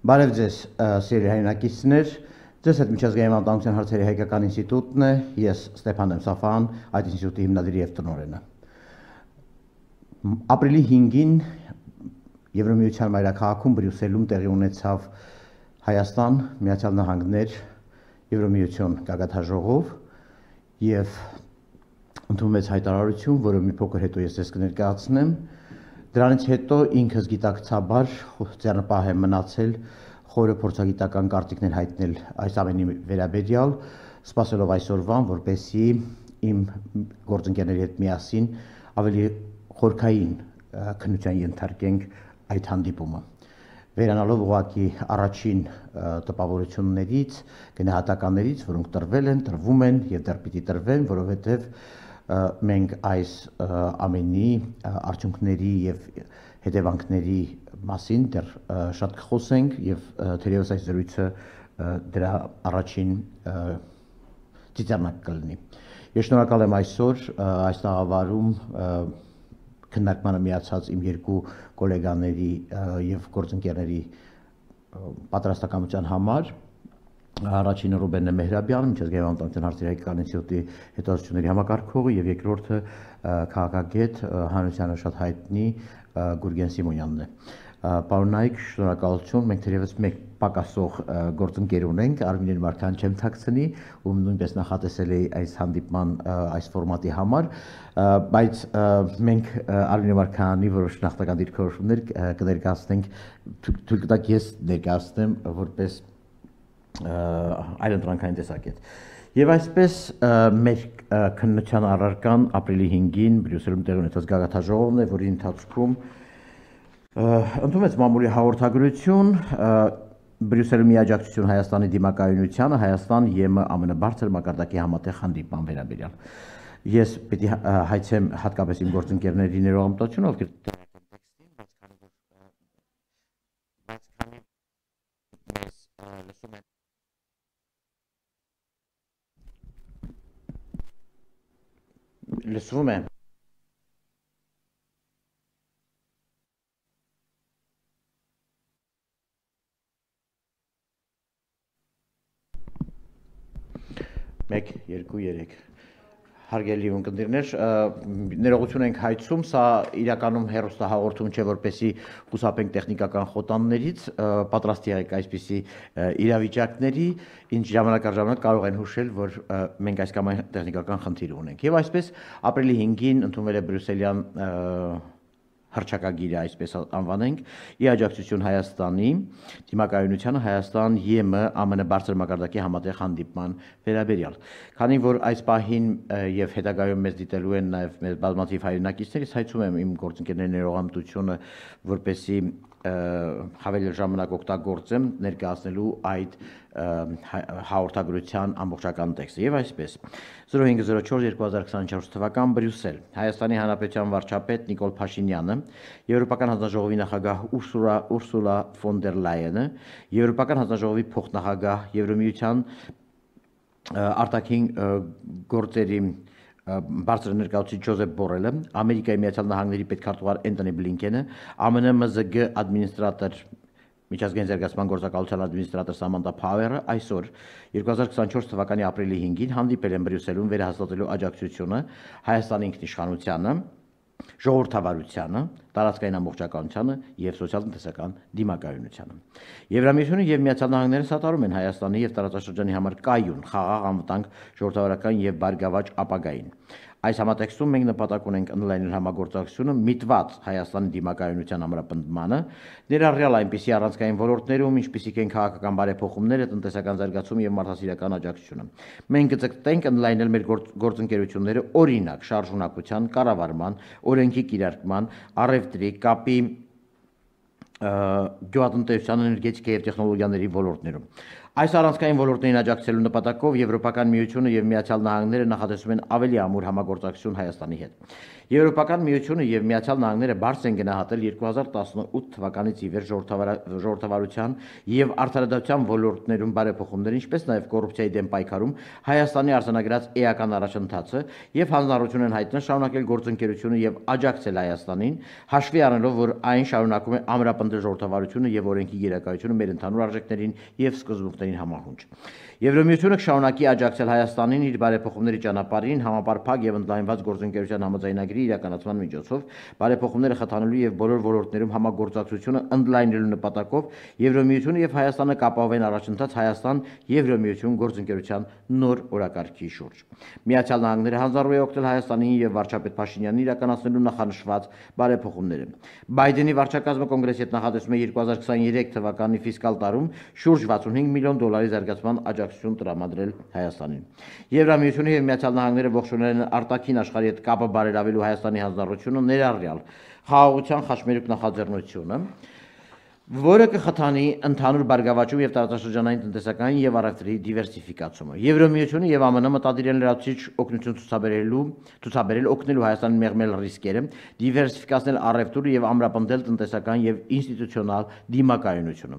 Բարև ձեզ, սիրելի հայրենակիցներ, ձեզ հետ միջազգային անվտանգության հարցերի հայկական ինստիտուտն է, ես Ստեփան Սաֆան, այդ ինստիտուտի հիմնադիրի եւ տնօրենը։ Ապրիլի 5-ին Եվրամիության մայրաքաղաքում Բրյուսելում տեղի ունեցավ Հայաստան, Միացյալ Նահանգներ, Եվրամիություն գագաթնաժողով եւ ընդունվեց հայտարարություն, որը մի փոքր հետո ես ձեզ կներկայացնեմ։ Դրանից հետո ինքս գիտակցաբար ձեռնպահ եմ մնացել խորը փորձագիտական կարծիքներ հայտնել այս ամենի վերաբերյալ, սպասելով այսօրվան, որպեսզի իմ գործընկերների հետ միասին ավելի խորքային քննության ենթարկենք այդ հանդիպումը։ Վերանալով ուղղակի առաջին տպավորություններից, գնահատականներից, որոնք տրվել են, տրվում են եւ դեռ պիտի տրվեն, որովհետեւ մենք այս ամենի արդյունքների եւ հետևանքների մասին դեռ շատ կխոսենք եւ թերևս այս զրույցը դրա առաջին ծիծեռնակ կլինի։ Ես շնորհակալ եմ այսօր այս տաղավարում քննարկմանը միացած իմ երկու գոլեգաների եւ գործընկերների պատրաստակամության համար։ Առաջինը Ռուբեն Մեհրաբյանը, միջազգային անվտանգության հարցերի հայկական ինստիտուտի հետազոտությունների համակարգողը եւ երկրորդը քաղաքագետ հանրությանը շատ հայտնի Գուրգեն Սիմոնյանն է։ Պարոն Նայք, շնորհակալություն, մենք թերևս մեկ պակասող գործընկեր ունենք, Արմինեն Մարկան չեմ թաքցնի, ում նույնպես նախատեսել էի այս հանդիպման այս ֆորմատի համար, բայց մենք Արմինեն Մարկանի որոշ նախնական դիրքորոշումներ կներկայացնենք, թույլ կտաք ես ներկայացնեմ որպես այլընտրանքային տեսակետ։ Եվ այսպես մեր քննության առարկան ապրիլի 5-ին Բրյուսելում տեղի ունեցած գագաթնաժողովն է, որի ընթացքում ընդունվեց մամուլի հաղորդագրություն Բրյուսելում միաջակցություն Հայաստանի դիմակայունությանը Հայաստան ԵՄ ԱՄՆ բարձր մակարդակի համատեղ հանդիպման վերաբերյալ։ Ես պիտի հայցեմ հատկապես իմ գործընկերների ներողամտությունը, ովքեր լսվում է։ Մեկ, երկու, երեք։ Հարգելի ունկնդիրներ, ներողություն ենք հայցում, սա իրականում հեռուստահաղորդում չէ, որպեսզի խուսափենք տեխնիկական խոտաններից, պատրաստ եղեք այսպիսի իրավիճակների, ինչ ժամանակ առ ժամանակ կարող են հուշել, որ մենք այս կամ այն տեխնիկական խնդիր ունենք։ Եվ այսպես ապրիլի 5-ին ընդունվել է բրյուսելյան հռչակագիրը, այսպես անվանենք, ի աջակցություն Հայաստանի դիմակայունությանը Հայաստան ԵՄ ԱՄՆ բարձր մակարդակի համատեղ հանդիպման վերաբերյալ։ Քանի որ այս պահին եւ հետագայում մեզ դիտելու են նաեւ մեր բազմաթիվ հայրենակիցներ, ես հայցում եմ իմ գործընկերների ներողամտությունը, որպեսզի հավելյալ ժամանակ օգտագործեմ ներկայացնելու այդ հաղորդագրության ամբողջական տեքստը։ Եվ այսպես 0504-2024 թվական Բրյուսել Հայաստանի Հանրապետության վարչապետ Նիկոլ Փաշինյանը, Եվրոպական հանձնաժողովի նախագահ Ուրսուլա ֆոն դեր Լայենը, Եվրոպական հանձնաժողովի փոխնախագահ Եվրամիության արտաքին գործերի բարձր ներկայացուցիչ Ջոզեփ Բորելը, Ամերիկայի Միացյալ Նահանգների պետքարտուղար Էնթոնի Բլինքենը, ԱՄՆ ՄԶԳ ադմինիստրատոր միջազգային զարգացման գործակալության ադմինիստրատոր Սամանթա Փավերը այսօր 2024 թվականի ապրիլի 5-ին հանդիպել են Բրյուսելում վերահաստատելու աջակցությունը Հայաստանի ինքնիշխանությանը, ժողովրդավարությանը, տարածքային ամբողջականությանը եւ սոցիալ-տնտեսական դիմակայունությանը։ Եվրամիությունը եւ Միացյալ Նահանգները սատարում են Հայաստանի եւ տարածաշրջանի համար կայուն, խաղաղ, անվտանգ, ժողովրդավարական եւ բարգավաճ ապագային։ Այս համատեքստում մենք նպատակ ունենք ընդլայնել համագործակցությունը միտված Հայաստանի դիմակայունության ամրապնդմանը, ներառյալ այնպիսի առանցքային ոլորտներում, ինչպիսիք են քաղաքական բարեփոխումները, տնտեսական զարգացումը եւ մարդասիրական աջակցությունը։ Մենք կձգտենք ընդլայնել մեր գործընկերությունները օրինակ շարժունակության, կառավարման, օրենքի կիրարկման, առևտրի, կապի, գյուղատնտեսության, էներգետիկայի եւ տեխնոլոգիաների ոլորտներում։ Այս առանցքային ոլորտներին աջակցելու նպատակով Եվրոպական միությունը եւ Միացյալ Նահանգները նախատեսում են ավելի ամուր համագործակցություն Հայաստանի հետ։ Եվրոպական միությունը եւ Միացյալ Նահանգները բարձր են գնահատել 2018 թվականից ի վեր ժողովրդավարության եւ արդարադատության ոլորտներում բարեփոխումներ, ինչպես նաեւ կոռուպցիայի դեմ պայքարում Հայաստանի արձանագրած էական առաջընթացը եւ հանձնարարություն են հայտնել շարունակել գործընկերությունը եւ աջակցել Հայաստանին, հաշվի առնելով, որ այն շարունակում է ամրապնդել ժողովրդավարությունը եւ օրենքի գերակայությունը մեր ընդհանուր արժեքներին եւ սկզբունքներին համահունչ։ Եվրոմիությունը կշարունակի աջակցել Հայաստանին իր բարեփոխումների ճանապարհին համապարփակ եւ ընդլայնված գործընկերության համաձայնագրի իրականացման միջոցով, բարեփոխումները խթանելու եւ բոլոր ոլորտներում համագործակցությունը ընդլայնելու նպատակով Եվրոմիությունը եւ Հայաստանը կապահովեն առաջընթաց Հայաստան-Եվրոմիություն գործընկերության նոր օրակարգի շուրջ։ Միացյալ Նահանգները հանձնառու է օգնել Հայաստանին եւ վարչապետ Փաշինյանին իրականացնելու նախանշված բարեփոխումները։ Բայդենի վարչակազմը կոնգրեսի հետ նախատեսում է 2023 թվականի ֆիսկալ տարում շուրջ 65 միլիոն դոլարի զարգացման աջակցություն տրամադրել Հայաստանին։ Եվրամիությունը եւ Միացյալ Նահանգները ողջունել են արտաքին աշխարհի հետ կապը բարելավելու Հայաստանի հանձնառությունը, ներառյալ խաղաղության խաչմերուկ նախաձեռնությունը, որը կխթանի ընդհանուր բարգավաճում եւ տարածաշրջանային տնտեսական եւ առևտրի դիվերսիֆիկացումը։ Եվրոմիությունը եւ ԱՄՆ մտադիր են լրացուցիչ օգնություն ցուցաբերել օգնելու Հայաստանին մեղմել ռիսկերը, դիվերսիֆիկացնել առևտուրը եւ ամրապնդել տնտեսական եւ ինստիտուցիոնալ դիմակայունությունը։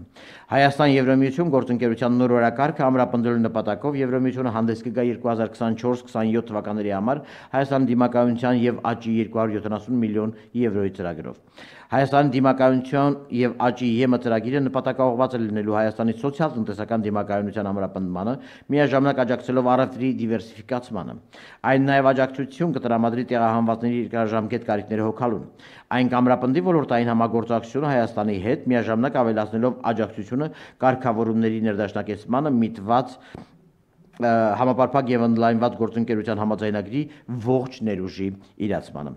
Հայաստան-Եվրոմիություն գործընկերության նոր օրակարգը ամրապնդելու նպատակով Եվրոմիությունը հանդես կգա 2024-27 թվականների համար Հայաստանի դիմակայունության եւ աճի 270 միլիոն եվրոյի ծրագրով։ Հայաստանի դիմակայունության եւ աճի ԵՄ ծրագիրը նպատակաուղղված է լինելու Հայաստանի սոցիալ-տնտեսական դիմակայունության ամրապնդմանը, միաժամանակ աջակցելով առևտրի դիվերսիֆիկացմանը։ Այն նաեւ աջակցություն կտրամադրի տեղահանվածների երկարաժամկետ կարիքները հոգալուն։ Այն կամրապնդի ոլորտային համագործակցությունը Հայաստանի հետ, միաժամանակ ավելացնելով աջակցությունը կարգավորումների ներդաշնակեցմանը միտված համապարփակ եւ ընդլայնված գործընկերության համաձայնագրի ողջ ներուժի իրացմանը։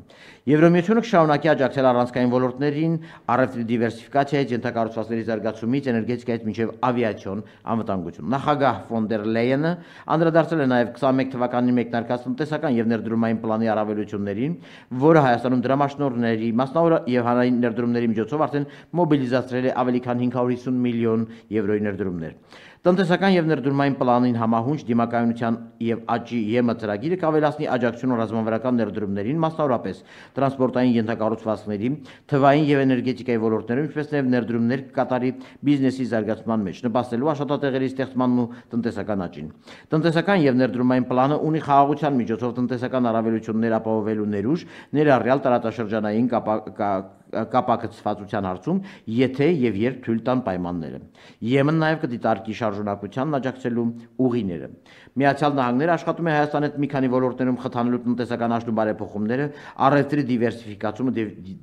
Եվրոմիությունը կշարունակի աջակցել առանցքային ոլորտներին, առևտրի դիվերսիֆիկացիայից, ենթակառուցվածքների զարգացումից, էներգետիկայից մինչև ավիացիոն անվտանգություն։ Նախագահ ֆոն դեր Լեյենը անդրադարձել է նաեւ 21 թվականին մեկնարկած տնտեսական եւ ներդրումային պլանի առավելություններին, որը Հայաստանում դրամաշնորհների, մասնավոր եւ հանրային ներդրումների միջոցով արդեն մոբիլիզացրել է ավելի քան 550 միլիոն եվրոյի ներդրումներ։ Տնտեսական եւ ներդրումային պլանին համահունչ դիմակայունության եւ աճի ԵՄ ծրագիրը կավելացնի աջակցությունը ռազմավարական ներդրումներին, մասնավորապես տրանսպորտային ենթակառուցվածքների, թվային եւ էներգետիկայի ոլորտներում, ինչպես նաեւ ներդրումներ կկատարի բիզնեսի զարգացման մեջ, նպաստելու աշխատատեղերի ստեղծմանն ու տնտեսական աճին։ Տնտեսական եւ ներդրումային պլանը ունի խաղաղության միջոցով տնտեսական առավելություններ ապահովելու ներուժ, ներառյալ տարածաշրջանային կապակցվածության հարցում, եթե եւ երբ թույլ տան պայմանները։ ԵՄ-ն նաեւ կդիտարկի շարժունակությանն աջակցելու ուղիները։ Միացյալ Նահանգները աշխատում է Հայաստանի հետ մի քանի ոլորտներում խթանելու տնտեսական աճն ու բարեփոխումները, առևտրի դիվերսիֆիկացումը,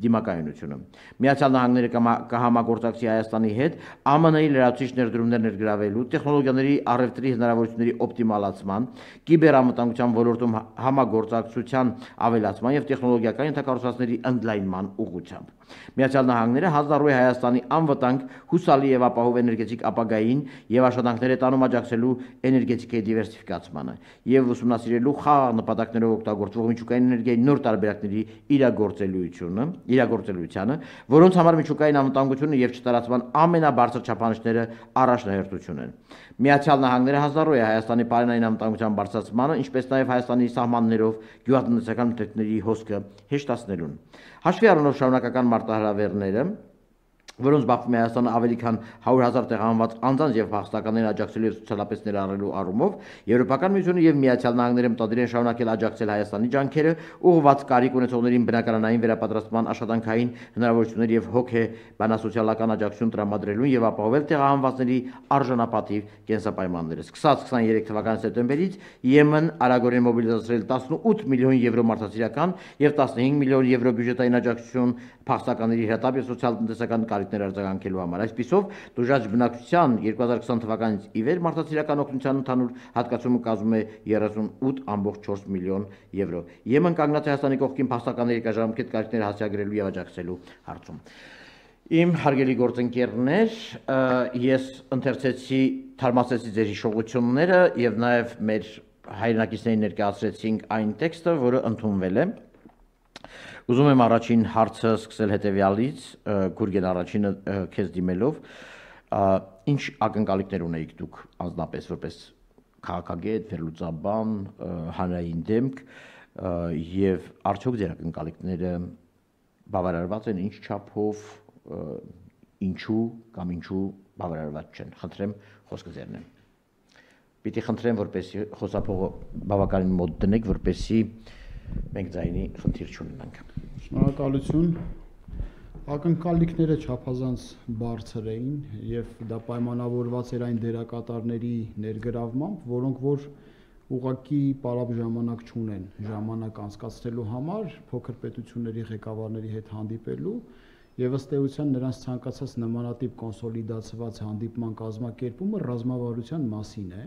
դիմակայունությունը։ Միացյալ Նահանգները կհամագործակցի Հայաստանի հետ ԱՄՆ-ի լրացուցիչ ներդրումներ ներգրավելու, տեխնոլոգիաների առևտրի հնարավորությունների օպտիմալացման, կիբերանվտանգության ոլորտում համագործակցության ավելացման եւ տեխնոլոգիական ենթակառուցվածքների ընդլայնման ուղղությամբ։ Միացյալ Նահանգները հանձնառու է Հայաստանի անվտանգ, հուսալի եւ ապահով էներգետիկ ապագային եւ աշխատանքները տանում աջակցելու էներգետիկայի դիվերսիֆիկացմանը եւ ուսումնասիրելու խաղաղ նպատակներով օգտագործվող միջուկային էներգիայի նոր տարբերակների իրագործելությանը, որոնց համար միջուկային անվտանգությունը եւ չտարածման ամենաբարձր չափանիշները առաջնահերթություն են։ Միացյալ Նահանգները հանձնառու է Հայաստանի պարենային անվտանգության բարձրացմանը, ինչպես նաեւ Հայաստանի սահմաններով գյուղատնտեսական մթերքների հոսքը հեշտացնելուն։ Հաշվի առնելով շարունակական մարտահրավերները, որոնց բախվում է Հայաստանը ավելի քան 100,000 տեղահանված անձանց եւ փախստականներին աջակցելու եւ սոցիալապես ներառնելու առումով, Եվրոպական միությունը եւ Միացյալ Նահանգները մտադիր են շարունակել աջակցել Հայաստանի ջանքերը ուղղված կարիք ունեցողներին բնակարանային վերապատրաստման, աշխատանքային հնարավորություններ եւ հոգեբանասոցիալական աջակցություն տրամադրելուն եւ ապահովել տեղահանվածների արժանապատիվ կենսապայմանները։ Սկսած 23 թվականի սեպտեմբերից ԵՄ-ն արագորեն մոբիլիզացրել 18 միլիոն եվրո մարդասիրական եւ 15 միլիոն եվրո բյուջետային աջակցություն փախստականների հրատապ եւ սոցիալ-տնտեսական կարիքներ արձագանքելու համար։ Այսպիսով, դժուժ բնակչության 2020 թվականից ի վեր մարդասիրական օգնության ընդհանուր հատկացումը կազմում է 38.4 միլիոն եվրո։ ԵՄ-ն կանգնած է Հայաստանի կողքին փախստականների երկարաժամկետ կարիքները հասցեագրելու եւ աջակցելու հարցում։ Իմ հարգելի գործընկերներ, ես ընթերցեցի, թարմացեցի ձեր հիշողությունները եւ նաեւ մեր հայրենակիցներին ներկայացրեցինք այն տեքստը, որը ընդունվել է։ Ուզում եմ առաջին հարցը սկսել հետևյալից, Գուրգեն առաջինը քեզ դիմելով, Ինչ ակնկալիքներ ունեիք դուք անձնապես որպես քաղաքագետ, վերլուծաբան, հանրային դեմք եւ արդյոք ձեր ակնկալիքները բավարարված են ինչ չափով, ինչու կամ ինչու բավարարված չեն։ Խնդրեմ խոսքը ձերն է։ Պիտի խնդրեմ, որպեսզի խոսափողը բավականին մոտ դնեք, որպեսզի մենք ձայնի խնդիր չունենանք։ Շնորհակալություն։ Ակնկալիքները չափազանց բարձր էին եւ դա պայմանավորված էր այն դերակատարների ներգրավմամբ, որոնք որ ուղղակի պարապ ժամանակ չունեն ժամանակ անցկացնելու համար փոքր պետությունների ղեկավարների հետ հանդիպելու եւ ըստ էության նրանց ցանկացած նմանատիպ կոնսոլիդացված հանդիպման կազմակերպումը ռազմավարության մասին է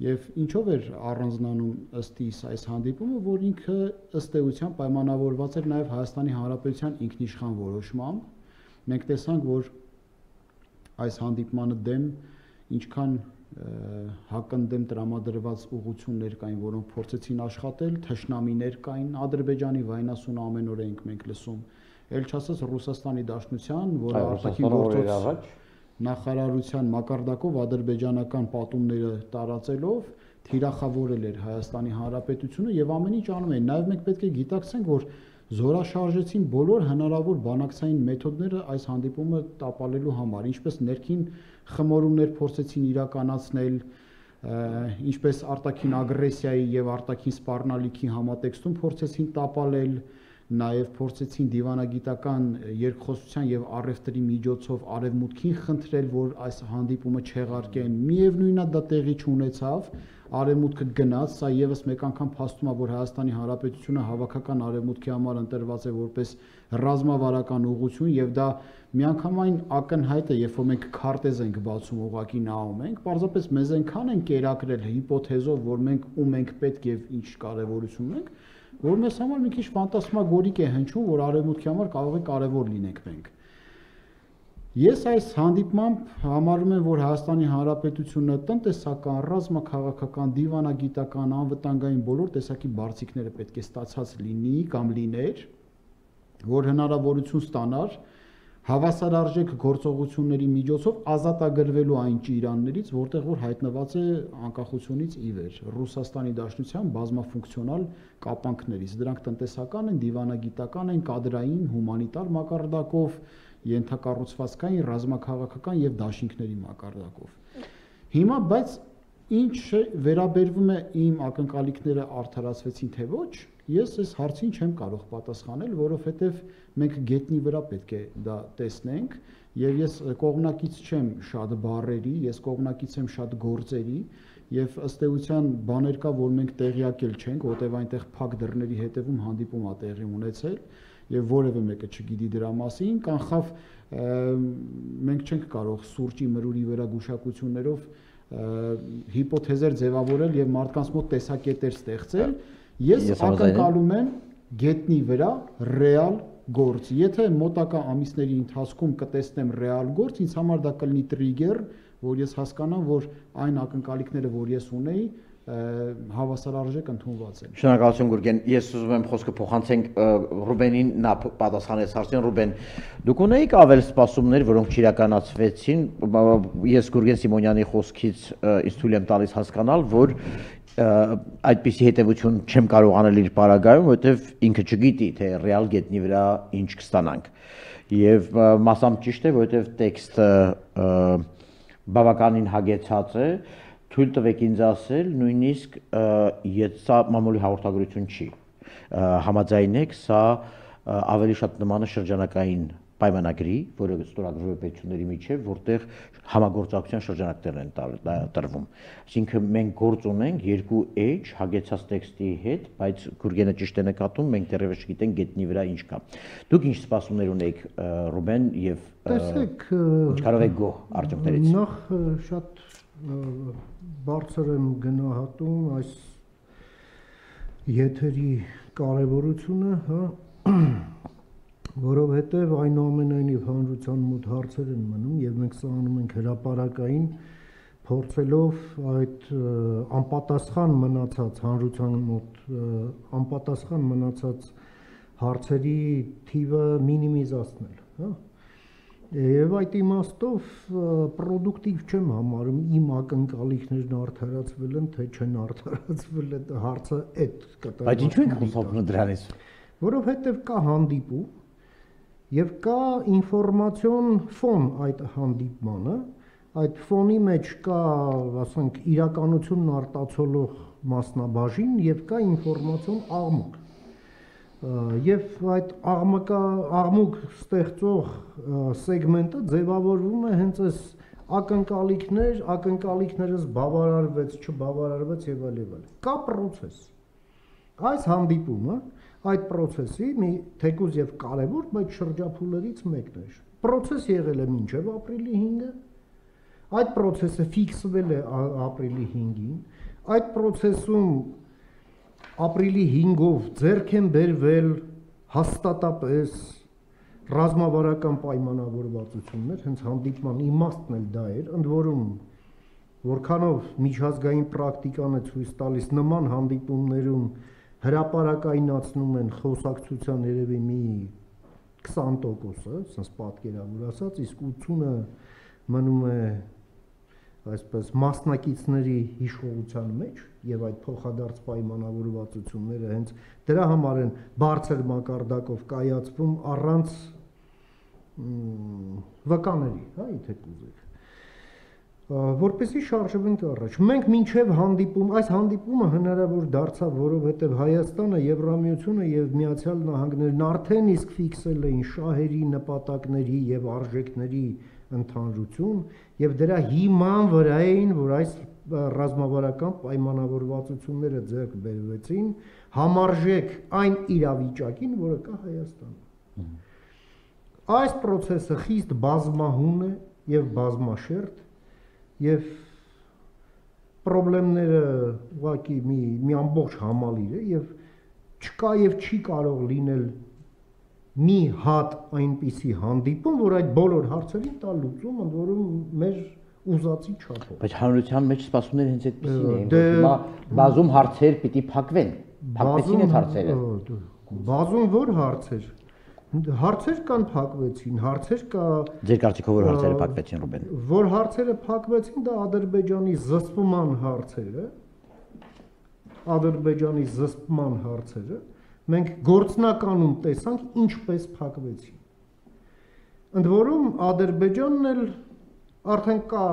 եւ ինչով էր առանձնանում ըստ իս այս հանդիպումը, որ ինքը ըստ էության պայմանավորված էր նաեւ Հայաստանի Հանրապետության ինքնիշխան որոշմամբ։ Մենք տեսանք, որ այս հանդիպմանը դեմ ինչքան հակընդդեմ տրամադրված ուղղություններ կային, որոնք փորձեցին աշխատել, թշնամիներ կային, Ադրբեջանի վայնասուն ամեն օր ենք մենք լսում, ել չասած Ռուսաստանի Դաշնության, որը արտաքին գործոց նախարարության մակարդակով ադրբեջանական պատումները տարածելով թիրախավորել էր Հայաստանի Հանրապետությունը եւ ամեն ինչ անում էին։ Նաեւ մենք պետք է գիտակցենք, որ զորաշարժեցին բոլոր հնարավոր բանակցային մեթոդները այս հանդիպումը տապալելու համար, ինչպես ներքին խմորումներ փորձեցին իրականացնել, ինչպես արտաքին ագրեսիայի եւ արտաքին սպառնալիքի համատեքստում փորձեցին տապալել, նաև փորձեցին դիվանագիտական երկխոսության եւ առևտրի միջոցով արևմուտքին խնդրել, որ այս հանդիպումը չեղարկեն։ Միևնույնն է դա տեղի չունեցավ, արևմուտքը գնաց, սա եւս մեկ անգամ փաստում է, որ Հայաստանի Հանրապետությունը հավաքական արևմուտքի համար ընտրված է որպես ռազմավարական ուղղություն եւ դա միանգամայն ակնհայտ է, երբ որ մենք քարտեզ ենք բացում, ուղղակի նայում ենք, պարզապես մեզ այնքան են կերակրել հիպոթեզով, որ մենք ում ենք պետք եւ ինչ կարեւորություն ունենք, որ մեզ համար մի քիչ ֆանտասմագորիկ է հնչում, որ արևմուտքի համար կարող է կարևոր լինենք մենք։ Ես այս հանդիպմամբ համարում եմ, որ Հայաստանի Հանրապետությունը տնտեսական, ռազմաքաղաքական, դիվանագիտական, անվտանգային բոլոր տեսակի բարձիկները պետք է ստացած լինի կամ լիներ, որ հնարավորություն ստանար հավասարարժեք գործողությունների միջոցով ազատագրվելու այն ճիրաններից, որտեղ որ հայտնված է անկախությունից ի վեր Ռուսաստանի Դաշնության բազմաֆունկցիոնալ կապանքներից։ Դրանք տնտեսական են, դիվանագիտական են, կադրային, հումանիտար մակարդակով, ենթակառուցվածքային, ռազմաքաղաքական եւ դաշինքների մակարդակով։ Հիմա բայց ինչ վերաբերվում է իմ ակնկալիքները արդարացվեցին թե ոչ, ես այս հարցին չեմ կարող պատասխանել, որովհետև մենք գետնի վրա պետք է դա տեսնենք եւ ես կողմնակից չեմ շատ բառերի, ես կողմնակից եմ շատ գործերի եւ ըստ էության բաներ կա, որ մենք տեղյակ էլ չենք, որտեւ այնտեղ փակ դռների հետևում հանդիպում է տեղի ունեցել եւ որևէ մեկը չգիտի դրա մասին, կանխավ մենք չենք կարող սուրճի մրուրի վրա գուշակություններով հիպոթեզեր ձևավորել եւ մարդկանց մոտ տեսակետեր ստեղծել։ Ես ակնկալում եմ գետնի վրա ռեալ գործ։ Եթե մոտակա ամիսների ընթացքում կտեսնեմ ռեալ գործ, ինձ համար դա կլինի տրիգեր, որ ես հասկանամ, որ այն ակնկալիքները, որ ես ունեի, հավասարարժեք ընդունված են։ Շնորհակալություն Գուրգեն։ Ես ուզում եմ խոսքը փոխանցենք Ռուբենին, նա պատասխանեց հարցին։ Ռուբեն, դուք ունեիք ավել սպասումներ, որոնք չիրականացվեցին։ Ես Գուրգեն Սիմոնյանի խոսքից ինձ թույլ եմ տալիս հասկանալ, որ այդպիսի հետևություն չեմ կարող անել իր պարագայում, որովհետև ինքը չգիտի, թե ռեալ գետնի վրա ինչ կստանանք։ Եվ մասամբ ճիշտ է, որովհետև տեքստը բավականին հագեցած է, թույլ տվեք ինձ ասել, նույնիսկ սա մամուլի հաղորդագրություն չի։ Համաձայն եք, սա ավելի շատ նման է շրջանակային պայմանագրի, որը ստորագրվում է պետությունների միջև, որտեղ համագործակցության շրջանակներն են տրվում։ Այսինքն մենք գործ ունենք երկու էջ հագեցած տեքստի հետ, բայց Գուրգենը ճիշտ է նկատում, մենք դեռևս չգիտենք գետնի վրա ինչ կա։ Դուք ինչ սպասումներ ունեիք Ռուբեն եւ ինչ կարող եք գոհ արդյունքներից։ Նախ շատ բարձր եմ գնահատում այս եթերի կարևորությունը, հա, որովհետև այնուամենայնիվ հանրության մոտ հարցեր են մնում եւ մենք սա անում ենք հրապարակային փորձելով այդ անպատասխան մնացած հանրության մոտ անպատասխան մնացած հարցերի թիվը մինիմիզացնել, հա։ Եվ այդ իմաստով պրոդուկտիվ չեմ համարում իմ ակնկալիքներն արդարացվել են, թե չեն արդարացվել, հարցը այդ կտրված։ Բայց ինչու ենք խոսում դրանից։ Որովհետև կա հանդիպում եւ կա ինֆորմացիոն ֆոն այդ հանդիպմանը, այդ ֆոնի մեջ կա, ասենք, իրականությունն արտացոլող մասնաբաժին եւ կա ինֆորմացիոն աղմուկ։ Եվ այդ աղմուկ ստեղծող սեգմենտը ձևավորվում է հենց այս ակնկալիքներս բավարարվեց, չբավարարվեց եւ այլ։ Կա process։ Այս հանդիպումը այդ process-ի մի թեկուզ եւ կարեւոր, բայց շրջափուլերից մեկն է։ Process եղել է մինչեւ ապրիլի 5-ը։ Այդ process-ը ֆիքսվել է ապրիլի 5-ին։ Այդ process-ում ապրիլի 5-ով ձեռք են բերվել հաստատապես ռազմավարական պայմանավորվածություններ, հենց հանդիպման իմաստն էլ դա էր, ընդ որում որքանով միջազգային պրակտիկան է ցույց տալիս նման հանդիպումներում հրապարակայնացնում են խոսակցության երևի մի 20%-ը, ասես պատկերավոր ասած, իսկ 80-ը մնում է այսպես մասնակիցների հիշողության մեջ եւ այդ փոխադարձ պայմանավորվածությունները հենց դրա համար են բարձր մակարդակով կայացվում առանց վկաների, հա, եթե կուզեք, որպեսզի շարժվենք առաջ։ Մենք մինչև հանդիպում, այս հանդիպումը հնարավոր դարձավ, որովհետև Հայաստանը, Եվրամիությունը եւ Միացյալ Նահանգներն արդեն իսկ ֆիքսել էին շահերի, նպատակների եւ արժեքների ընդհանրություն եւ դրա հիման վրա էին, որ այս ռազմավարական պայմանավորվածությունները ձեռք բերվեցին համարժեք այն իրավիճակին, որը կա Հայաստանում։ Այս process-ը խիստ բազմահուն է եւ բազմաշերտ եւ խնդիրները ուղղակի մի ամբողջ համալիր է եւ չկա եւ չի կարող լինել մի հատ այնպիսի հանդիպում, որ այդ բոլոր հարցերին տա լուծում, ընդ որում մեր ուզածի չափով։ Բայց հանրության մեջ սպասումները հենց այդպեսին էին, որ հիմա բազում հարցեր պիտի փակվեն։ Փակվեցին այդ հարցերը։ Բազում որ հարցեր։ Հարցեր կան փակվեցին, հարցեր կա։ Ձեր կարծիքով որ հարցերը փակվեցին, Ռուբեն։ Որ հարցերը փակվեցին, դա Ադրբեջանի զսպման հարցերը։ Ադրբեջանի զսպման հարցերը մենք գործնականում տեսանք ինչպես փակվեցին։ Ընդ որում Ադրբեջանն էլ արդեն կա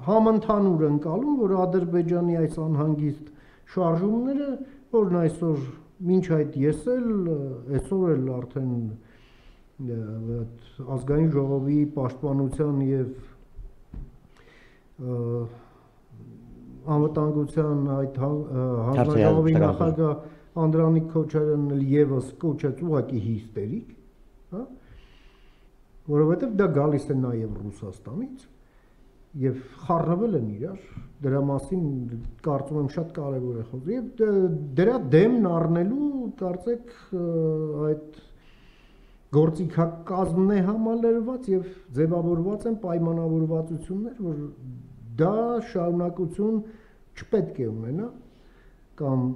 համընդհանուր ընկալում, որ Ադրբեջանի այս անհանգիստ շարժումները, որն այսօր մինչ այդ ես էլ այսօր էլ արդեն ազգային ժողովի պաշտպանության եւ անվտանգության այդ հանձնաժողովի նախագահ Անդրանիկ Քոչարյանն էլ եւս կոչեց ուղղակի հիստերիկ, հա, որովհետեւ դա գալիս է նաեւ Ռուսաստանից եւ խառնվել են իրար, դրա մասին կարծում եմ շատ կարեւոր է խոսքը եւ դրա դեմն առնելու կարծեք այդ գործիքակազմն է համալրված եւ ձևավորված են պայմանավորվածություններ, որ դա շարունակություն չպետք է ունենա կամ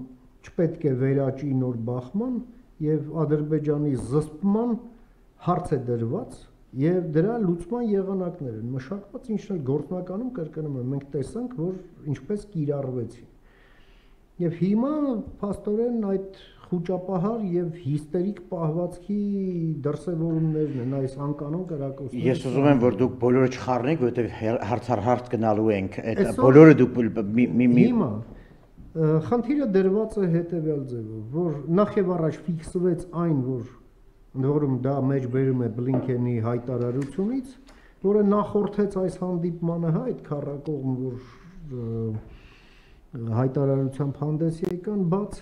չպետք է վերաճի նոր բախման եւ Ադրբեջանի զսպման հարց է դրված եւ դրա լուծման եղանակներ են մշակված, ինչն էլ գործնականում կրկնում եմ, մենք տեսանք, որ ինչպես կիրառվեցին։ Եվ հիմա փաստորեն այդ խոճապահար եւ հիստերիկ պահվածքի դրսեւորումներն են այս անկանոն կրակոցները։ Ես ուզում եմ, որ դուք բոլորը չխառնեք, որովհետեւ հարց գնալու ենք, այդ բոլորը դուք Հիմա խնդիրը դրված է հետեւյալ ձևով, որ նախ եւ առաջ ֆիքսվեց այն, որում դա մեջ բերում է Բլինքենի հայտարարությունից, որը նախորդեց այս հանդիպմանը, հա, այդ քառակողմ, որ հայտարարությամբ հանդես եկան, բաց,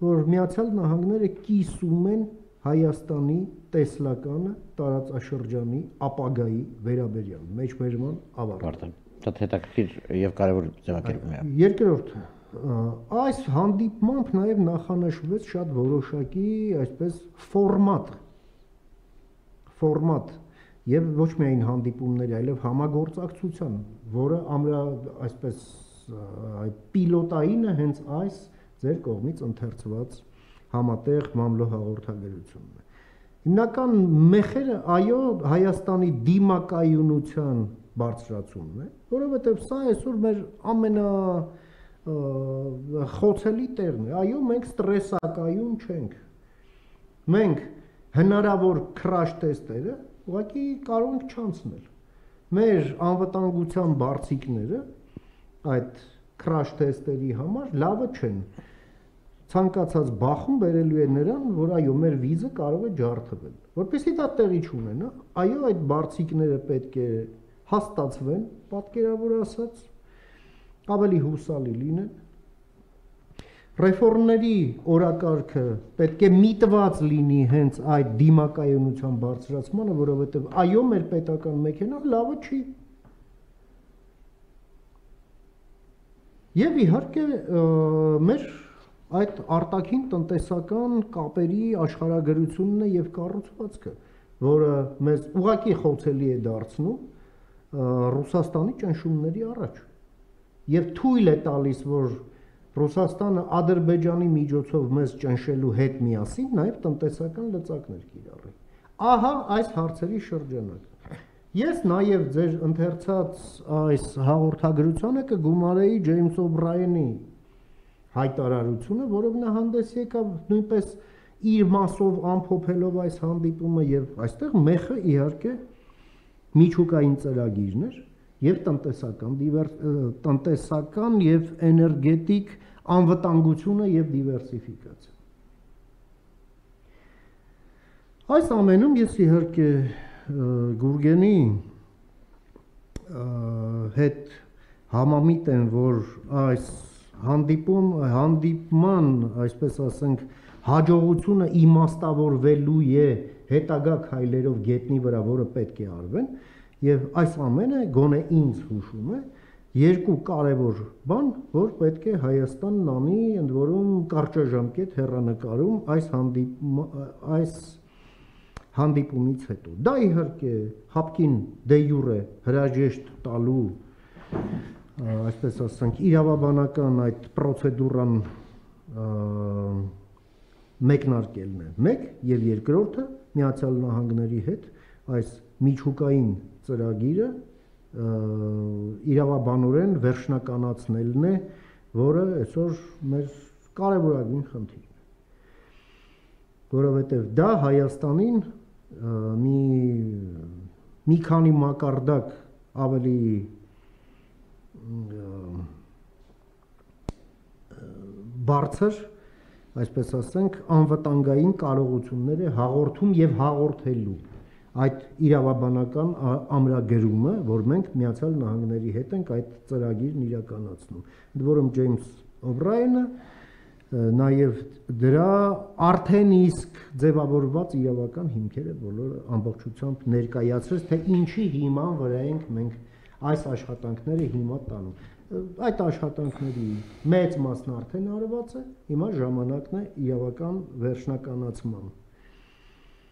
որ Միացյալ Նահանգները կիսում են Հայաստանի տեսլականը տարածաշրջանի ապագայի վերաբերյալ, մեջբերման ավարտը։ Շատ հետաքրքիր եւ կարեւոր ձևակերպում է։ Երկրորդ, այս հանդիպմամբ նաեւ նախանշվեց շատ որոշակի, այսպես ֆորմատ եւ ոչ միայն հանդիպումների, այլև համագործակցության, որը այսպես պիլոտայինը հենց այս ձեր կողմից ընթերցված համատեղ մամլո հաղորդագրությունն է։ Հիմնական մեխերը այո Հայաստանի դիմակայունության բարձրացումն է, որովհետև սա այսօր մեր խոցելի տեղն է, այո մենք ստրեսակայուն չենք, մենք հնարավոր քրաշ տեստերը ուղղակի կարող ենք չանցնել, մեր անվտանգության բարձիկները այդ քրաշ տեստերի համար լավը չեն, ցանկացած բախում բերելու է նրան, որ այո մեր վիզը կարող է ջարդվել, որպեսզի դա տեղի չունենա, այո այդ բարձիկները պետք է հաստատվեն, պատկերավոր ասած, ավելի հուսալի լինեն, ռեֆորմների օրակարգը պետք է միտված լինի հենց այդ դիմակայունության բարձրացմանը, որովհետև այո մեր պետական մեքենան լավը չի։ Եվ իհարկե մեր այդ արտաքին տնտեսական կապերի աշխարհագրությունն է եւ կառուցվածքը, որը մեզ ուղղակի խոցելի է դարձնում Ռուսաստանի ճնշումների առաջ եւ թույլ է տալիս, որ Ռուսաստանը Ադրբեջանի միջոցով մեզ ճնշելու հետ միասին նաեւ տնտեսական լծակներ կիրառի։ Ահա այս հարցերի շրջանակը։ Ես նաեւ ձեր ընթերցած այս հաղորդագրությանը կգումարեի Ջեյմս Օբրայենի հայտարարությունը, որով նա հանդես եկավ նույնպես իր մասով ամփոփելով այս հանդիպումը եւ այստեղ մեխը իհարկե միջուկային ծրագիրն էր եւ տնտեսական եւ էներգետիկ անվտանգությունը եւ դիվերսիֆիկացիա։ Այս ամենում ես իհարկե Գուրգենի հետ համամիտ եմ, որ այս հանդիպման, այսպես ասենք, հաջողությունը իմաստավորվելու է հետագա քայլերով գետնի վրա, որը պետք է արվեն, եւ այս ամենը գոնե ինձ հուշում է երկու կարևոր բան, որ պետք է Հայաստանն անի, ընդ որում կարճաժամկետ հեռանկարում այս հանդիպումից հետո։ Դա իհարկե հապկին դե յուրե հրաժեշտ տալու, այսպես ասենք, իրավաբանական այդ պրոցեդուրան մեկնարկելն է մեկ եւ երկրորդը Միացյալ Նահանգների հետ այս միջուկային ծրագիրը իրավաբանորեն վերջնականացնելն է, որը այսօր մեր կարևորագույն խնդիրն է, որովհետեւ դա Հայաստանին մի քանի մակարդակ ավելի բարձր, այսպես ասենք, անվտանգային կարողություններ է հաղորդում եւ հաղորդելու այդ իրավաբանական ամրագրումը, որ մենք Միացյալ Նահանգների հետ ենք այդ ծրագիրն իրականացնում։ Ընդ որում Ջեյմս Օբրայենը նաեւ դրա արդեն իսկ ձևավորված իրավական հիմքերը բոլորը ամբողջությամբ ներկայացրեց, թե ինչի հիման վրա ենք մենք այս աշխատանքները հիմա տանում։ Այդ աշխատանքների մեծ մասն արդեն արված է, հիմա ժամանակն է իրավական վերջնականացման։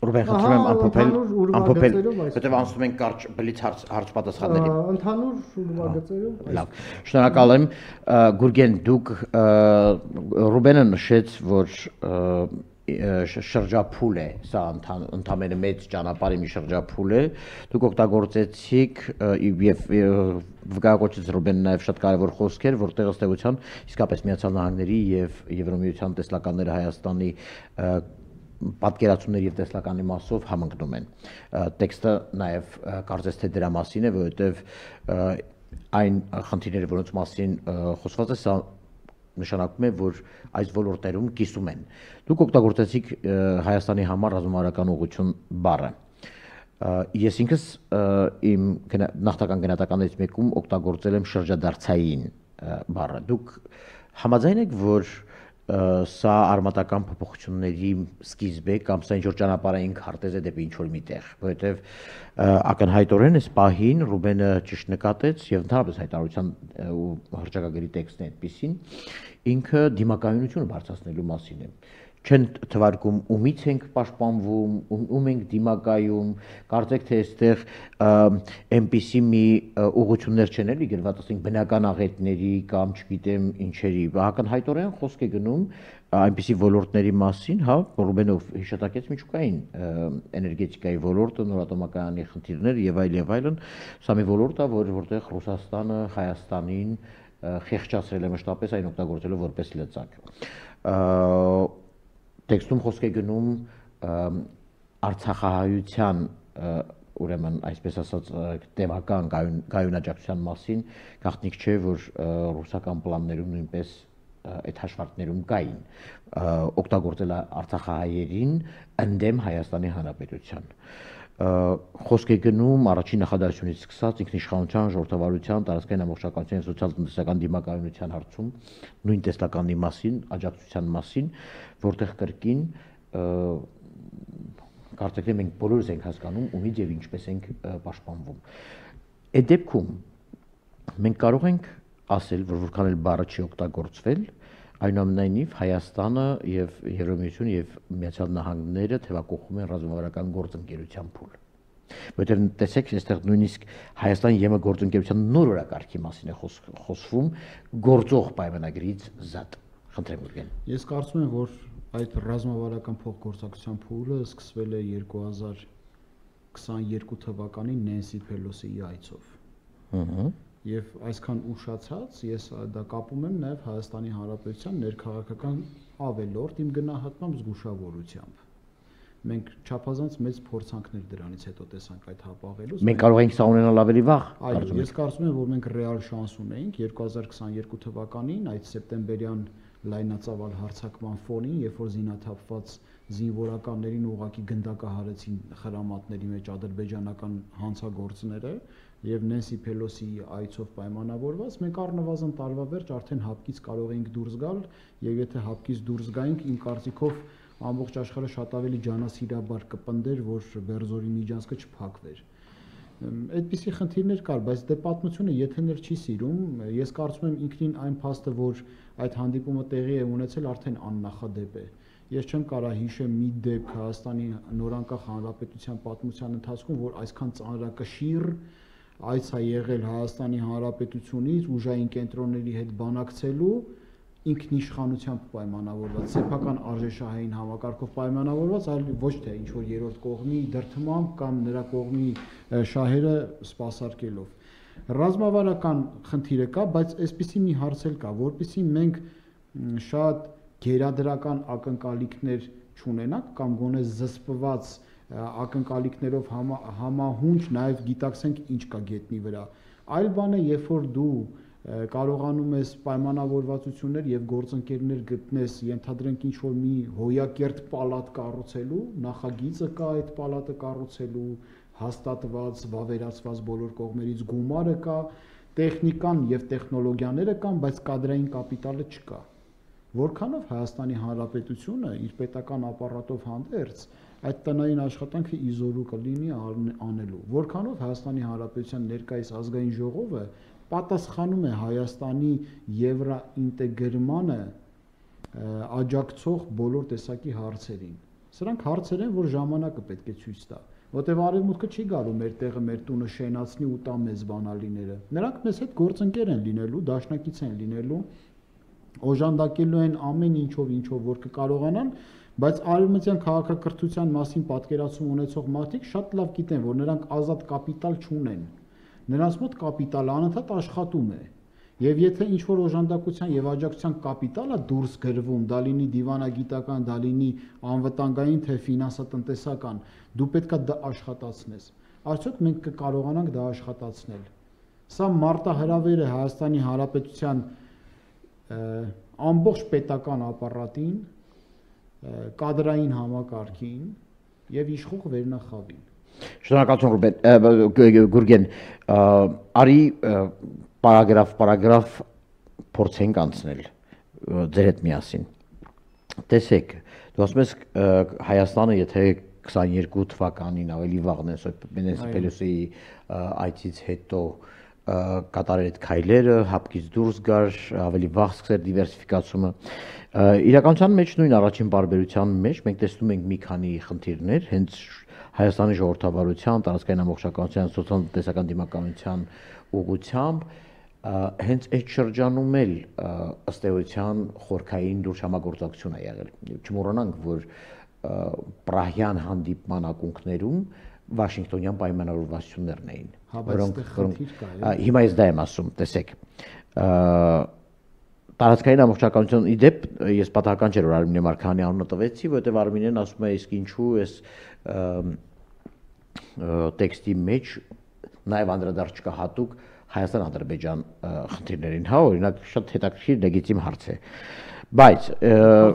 Ռուբեն, խնդրում եմ ամփոփել, որտեղ անցնում ենք կարճ բլից հարց-պատասխանների։ Ընդհանուր ուրվագծերով։ Լավ, շնորհակալ եմ։ Գուրգեն, դուք Ռուբենը նշեց, որ շրջափուլ է, սա ընդամենը մեծ ճանապարհի մի շրջափուլ է, դուք օգտագործեցիք եւ վկայակոչեց Ռուբենը նաեւ շատ կարեւոր խոսքեր, որտեղ ըստ էության իսկապես Միացյալ Նահանգների եւ Եվրամիության տեսլականները Հայաստանի պատկերացումների եւ տեսլականի մասով համընկնում են։ Տեքստը նաեւ կարծես թե դրա մասին է, որովհետեւ այն խնդիրները, որոնց մասին խոսված է, սա նշանակում է, որ այս ոլորտերում կիսում են։ Դուք օգտագործեցիք Հայաստանի համար ռազմավարական ուղղություն բառը։ Ես ինքս իմ նախնական գնահատականներից մեկում օգտագործել եմ շրջադարձային բառը։ Դուք համաձայն եք, որ սա արմատական փոփոխությունների սկիզբ է կամ սա ինչ-որ ճանապարհային քարտեզ է դեպի ինչ-որ միտեղ, որովհետև ակնհայտորեն այս պահին Ռուբենը ճիշտ նկատեց եւ ընդհանրապես հայտարարության ու հռչակագրի տեքստն է այդպեսին, ինքը դիմակայունությունը բարձրացնելու մասին է։ չեն թվարկում ումից ենք պաշտպանվում, ում ենք դիմակայում, կարծեք թե այստեղ այնպիսի մի ուղղություններ չեն էլի գրված, ասենք բնական աղետների կամ չգիտեմ ինչերի, ակնհայտորեն խոսք է գնում այնպիսի ոլորտների մասին, հա, Ռուբենով հիշատակեց միջուկային էներգետիկայի ոլորտը, նորատոմակայանի խնդիրները եւ այլն, սա մի ոլորտ է, որտեղ Ռուսաստանը Հայաստանին խեղճացրել է մշտապես այն օգտագործելով որպես լծակ։ Տեքստում խոսք է գնում արցախահայության, ուրեմն այսպես ասած տևական գայունաճակցության մասին, գաղտնիք չէ, որ ռուսական պլաններում նույնպես այդ հաշվարկներում կային օգտագործել արցախահայերին ընդդեմ Հայաստանի Հանրապետության։ Խոսք է գնում առաջին նախադասությունից սկսած ինքնիշխանության, ժողովրդավարության, տարածքային ամբողջականության եւ սոցիալ-տնտեսական դիմակայունության հարցում նույն տեսլականի մասին, աջակցության մասին, որտեղ կրկին կարծեք թե մենք բոլորս ենք հասկանում ումից եւ ինչպես ենք պաշտպանվում։ Այդ դեպքում մենք կարող ենք ասել, որ որքան էլ բառը չի օգտագործվել, այնուամենայնիվ Հայաստանը եւ Եվրամիությունը եւ Միացյալ Նահանգները թեւակողում են ռազմավարական գործընկերության փուլ։ Որտեղ տեսեք, այստեղ նույնիսկ Հայաստան-ԵՄ գործընկերության նոր օրակարգի մասին է խոսվում, գործող պայմանագրից զատ։ Խնդրեմ Գուրգեն։ Ես կարծում եմ, որ այդ ռազմավարական փոխգործակցության փուլը սկսվել է 2022 թվականին Նենսի Փելոսիի այցով։ Եվ այսքան ուշացած ես դա կապում եմ նաև Հայաստանի Հանրապետության ներքաղաքական ավելորդ իմ գնահատմամբ զգուշավորությամբ։ Մենք չափազանց մեծ փորձանքներ դրանից հետո տեսանք այդ հապաղելուց։ Մենք կարող ենք սա ունենալ ավելի վաղ։ Այո, ես կարծում եմ, որ մենք ռեալ շանս ունեինք 2022 թվականին այդ սեպտեմբերյան լայնածավալ հարձակման ֆոնին, երբ որ զինաթափված զինվորականներին ուղղակի գնդակահարեցին խրամատների մեջ ադրբեջանական հանցագործները եւ Նենսի Փելոսիի այցով պայմանավորված, մենք առնվազն տարվա վերջ արդեն հապկից կարող էինք դուրս գալ, եւ եթե հապկից դուրս գայինք, իմ կարծիքով ամբողջ աշխարհը շատ ավելի ջանասիրաբար կպնդեր, որ Բերձորի միջանցքը չփակվեր։ Այդպիսի խնդիրներ կար, բայց դե պատմությունը եթեներ չի սիրում, ես կարծում եմ ինքնին այն փաստը, որ այդ հանդիպումը տեղի է ունեցել, արդեն աննախադեպ է։ Ես չեմ կարող հիշեմ մի դեպք Հայաստանի նորանկախ հանրապետության պատմության ընթացքում, որ այսքան ծանրակշիռ այց է եղել Հայաստանի Հանրապետությունից ուժային կենտրոնների հետ բանակցելու ինքնիշխանությամբ պայմանավորված, սեփական արժեշահային համակարգով պայմանավորված, այլ ոչ թե ինչ որ երրորդ կողմի դրդմամբ կամ նրա կողմի շահերը սպասարկելով։ Ռազմավարական խնդիրը կա, բայց այսպիսի մի հարց էլ կա, որպեսզի մենք շատ գերադրական ակնկալիքներ չունենանք կամ գոնե զսպված ակնկալիքներով համահունչ նաև գիտակցենք ինչ կա գետնի վրա։ Այլ բան է, երբ որ դու կարողանում ես պայմանավորվածություններ եւ գործընկերներ գտնես, ենթադրենք ինչ որ մի հոյակերտ պալատ կառուցելու, նախագիծը կա այդ պալատը կառուցելու, հաստատված, վավերացված բոլոր կողմերից գումարը կա, տեխնիկան եւ տեխնոլոգիաները կան, բայց կադրային կապիտալը չկա։ Որքանով Հայաստանի Հանրապետությունը իր պետական ապարատով հանդերձ այդ տնային աշխատանքը իզորու կլինի անելու։ Որքանով Հայաստանի Հանրապետության ներկայիս ազգային ժողովը պատասխանում է Հայաստանի եվրոինտեգրմանը աջակցող բոլոր տեսակի հարցերին։ Սրանք հարցեր են, որ ժամանակը պետք է ցույց տա, որտեղ արևմուտքը չի գալու մեր տեղը, մեր տունը շենացնի ու տա մեզ բանալիները։ Նրանք մեզ հետ գործընկեր են լինելու, դաշնակից են լինելու, օժանդակելու են ամեն ինչով, որ կկարողանան, բայց արևմտյան քաղաքակրթության մասին պատկերացում ունեցող մարդիկ շատ լավ գիտեն, որ նրանք ազատ կապիտալ չունեն։ Նրանց մոտ կապիտալը անընդհատ աշխատում է։ Եվ եթե ինչ-որ օժանդակության եւ աջակցության կապիտալը դուրս գրվում, դա լինի դիվանագիտական, դա լինի անվտանգային, թե ֆինանսատնտեսական, դու պետքա դա աշխատացնես։ Արդյոք մենք կկարողանանք դա աշխատացնել։ Սա մարտահրավեր է Հայաստանի Հանրապետության ամբողջ պետական ապարատին, կադրային համակարգին եւ իշխող վերնախավին։ Շնորհակալություն Գուրգեն, արի պարագրաֆ փորձենք անցնել ձեր հետ միասին։ Տեսեք, դու ասում ես Հայաստանը, եթե 22 թվականին ավելի վաղն է Նենսի Փելոսիի այցից հետո կատարել այդ քայլերը, հապկից դուրս գար, ավելի վաղ սկսել դիվերսիֆիկացումը։ Իրականության մեջ նույն առաջին բարբերության մեջ մենք տեսնում ենք մի քանի խնդիրներ, հենց Հայաստանի ժողովրդավարության, տարածքային ամբողջականության, սոցիալ-տնտեսական դիմականության ուղղությամբ հենց այդ շրջանում էլ ըստ էության խորքային լուրջ համագործակցություն է եղել։ Չմոռանանք, որ Պրահյան հանդիպման ակունքներում Վաշինգտոնյան պայմանավորվածություններն էին, որոնք հիմա ես դա եմ ասում, տեսեք, տարածքային ամբողջականություն իդեպ ես պատահական չէր որ Արմինե Մարգարյանի անունը տվեցի, որովհետև Արմինեն ասում է իսկ ինչու էս տեքստի մեջ նաև անդրադարձ չկա հատուկ Հայաստան-Ադրբեջան խնդիրներին, հա, օրինակ շատ հետաքրքիր լեգիտիմ հարց է, բայց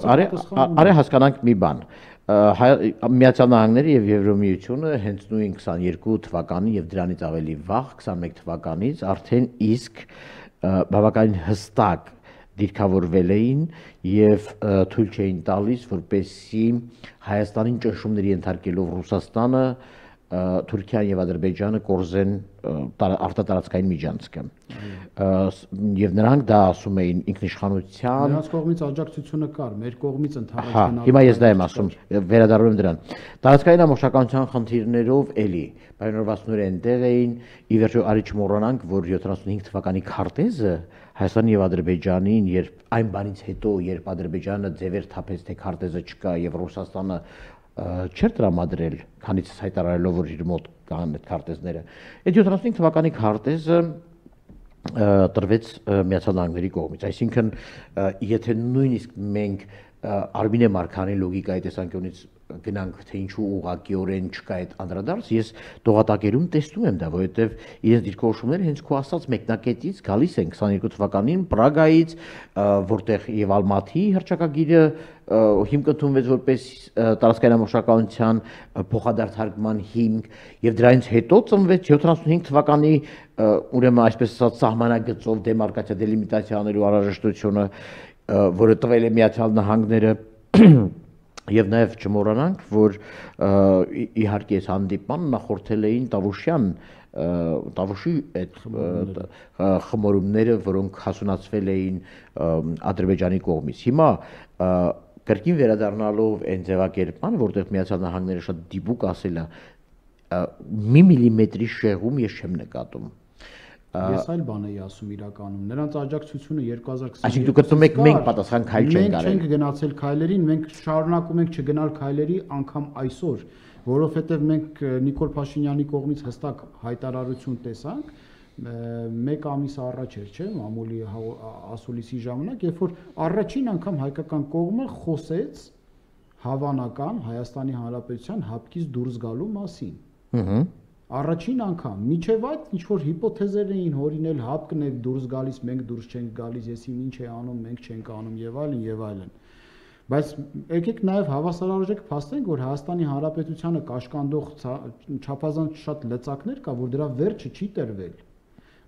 արի հասկանանք մի բան, Միացյալ Նահանգները եւ Եվրոմիությունը հենց նույն 22 թվականին եւ դրանից ավելի վաղ 21 թվականից արդեն իսկ բավականին հստակ դիրքավորվել էին եւ թույլ չէին տալիս, որպեսզի Հայաստանին ճնշումների ենթարկելով Ռուսաստանը, Թուրքիան եւ Ադրբեջանը կորզեն արտատարածքային միջանցքը։ Եվ նրանք դա ասում էին ինքնիշխանության։ Նրանց կողմից աջակցությունը կար, մեր կողմից ընդհանրապես։ Հա, հիմա ես դա եմ ասում, վերադառնում եմ դրան։ Տարածքային ամբողջականության խնդիրներով էլի պայմանավորվածությունները այնտեղ էին, ի վերջո արի չմոռանանք, որ 75 թվականի քարտեզը Հայաստանի եւ Ադրբեջանին, երբ այն բանից հետո, երբ Ադրբեջանը ձևեր թափեց, թե քարտեզը չկա եւ Ռուսաստանը չէր տրամադրել, քանից հայտարարելով որ իր մոտ կան այդ քարտեզները։ Այդ 75 թվականի քարտեզը տրվեց Միացյալ Նահանգների կողմից, այսինքն եթե նույնիսկ մենք Արմինե Մարգարյանի լոգիկայի տեսանկյունից գնանք թե ինչու ուղղակիորեն չկա այդ անդրադարձ, ես տողատակերում տեսնում եմ դա, որովհետև իրենց դիրքորոշումները հենց քո ասած մեկնակետից գալիս են 22 թվականին Պրագայից, որտեղ եւ Ալմաթիի հռչակագիրը հիմք ընդունվեց որպես տարածքային ամբողջականության փոխադարձարկման հիմք եւ դրանից հետո ծնվեց 75 թվականի ուրեմն այսպես ասած սահմանագծով դեմարկացիա դելիմիտացիա անելու անհրաժեշտությունը, որը տվել է Միացյալ Նահանգները եւ նաեւ չմոռանանք, որ իհարկե այս հանդիպման նախորդել էին Տավուշի այդ խմորումները, որոնք հասունացվել էին Ադրբեջանի կողմից։ Հիմա կրկին վերադառնալով այն ձևակերպման, որտեղ Միացյալ Նահանգները շատ դիպուկ ասել է, մի միլիմետրի շեղում ես չեմ նկատում։ Ես այլ բան էի ասում իրականում, նրանց աջակցությունը 2020 Այսինքն դուք գտնում եք մենք պատասխան քայլ չենք արել։ Մենք չենք գնացել քայլերին, մենք շարունակում ենք չգնալ քայլերի անգամ այսօր, որովհետև մենք Նիկոլ Փաշինյանի կողմից հստակ հայտարարություն տեսանք մեկ ամիս առաջ էր, չէ՞, մամուլի ասուլիսի ժամանակ, երբ որ առաջին անգամ հայկական կողմը խոսեց հավանական Հայաստանի Հանրապետության հապկից դուրս գալու մասին։ Առաջին անգամ, միջև այդ ինչ որ հիպոթեզեր էին հորինել, հապկն է դուրս գալիս, մենք դուրս չենք գալիս, եսին ինչ է անում, մենք չենք անում եւ այլն եւ այլն։ Բայց եկեք նաեւ հավասարարժեք փաստենք, որ Հայաստանի Հանրապետությանը կաշկանդող չափազանց շատ լծակներ կա, որ դրա վերջը չի տրվել։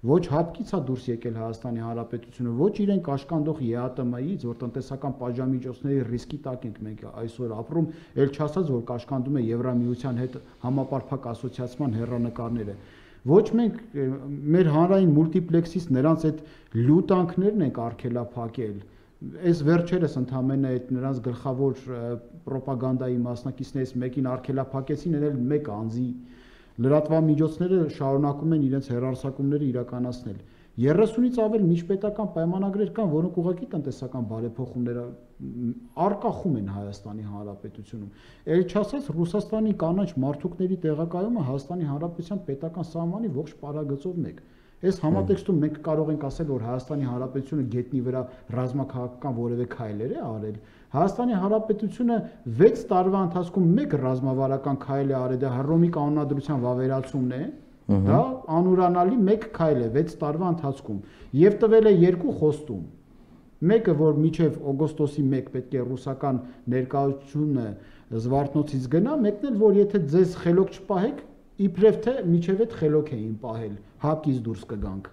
Ոչ հապկից է դուրս եկել Հայաստանի Հանրապետությունը, ոչ իրեն կաշկանդող ԵԱՏՄ-ից, որ տնտեսական պատժամիջոցների ռիսկի տակ ենք մենք այսօր ապրում, ել չասած, որ կաշկանդում է Եվրամիության հետ համապարփակ ասոցիացման հեռանկարները։ Ոչ մենք մեր հանրային մուլտիպլեքսից նրանց այդ լուտանքներն ենք արգելափակել։ Այս վերջերս ընդամենը այդ նրանց գլխավոր ռոպագանդայի մասնակիցներից մեկին արգելափակեցին, էլ մեկ անձի լրատվամիջոցները շարունակում են իրենց հեռարձակումները իրականացնել։ 30-ից ավել միջպետական պայմանագրեր կան, որոնք ուղղակի տնտեսական բարեփոխումներ արկախում են Հայաստանի Հանրապետությունում։ Էլ չասած Ռուսաստանի կանաչ մարդուկների տեղակայումը Հայաստանի Հանրապետության պետական սահմանի ողջ պարագծով մեկ։ Այս համատեքստում մենք կարող ենք ասել, որ Հայաստանի Հանրապետությունը գետնի վրա ռազմաքաղաքական որևէ քայլեր է արել։ Հայաստանի Հանրապետությունը 6 տարվա ընթացքում մեկ ռազմավարական քայլ է արել, դա Հռոմի կանոնադրության վավերացումն է։ Դա անուրանալի մեկ քայլ է 6 տարվա ընթացքում եւ տվել է 2 խոստում։ Մեկը, որ մինչև օգոստոսի 1 պետք է ռուսական ներկայությունը Զվարթնոցից գնա, մեկն էլ, որ եթե ձեզ խելոք չպահեք, իբրև թե մինչև այդ խելոք էին պահել, հապկից դուրս կգանք։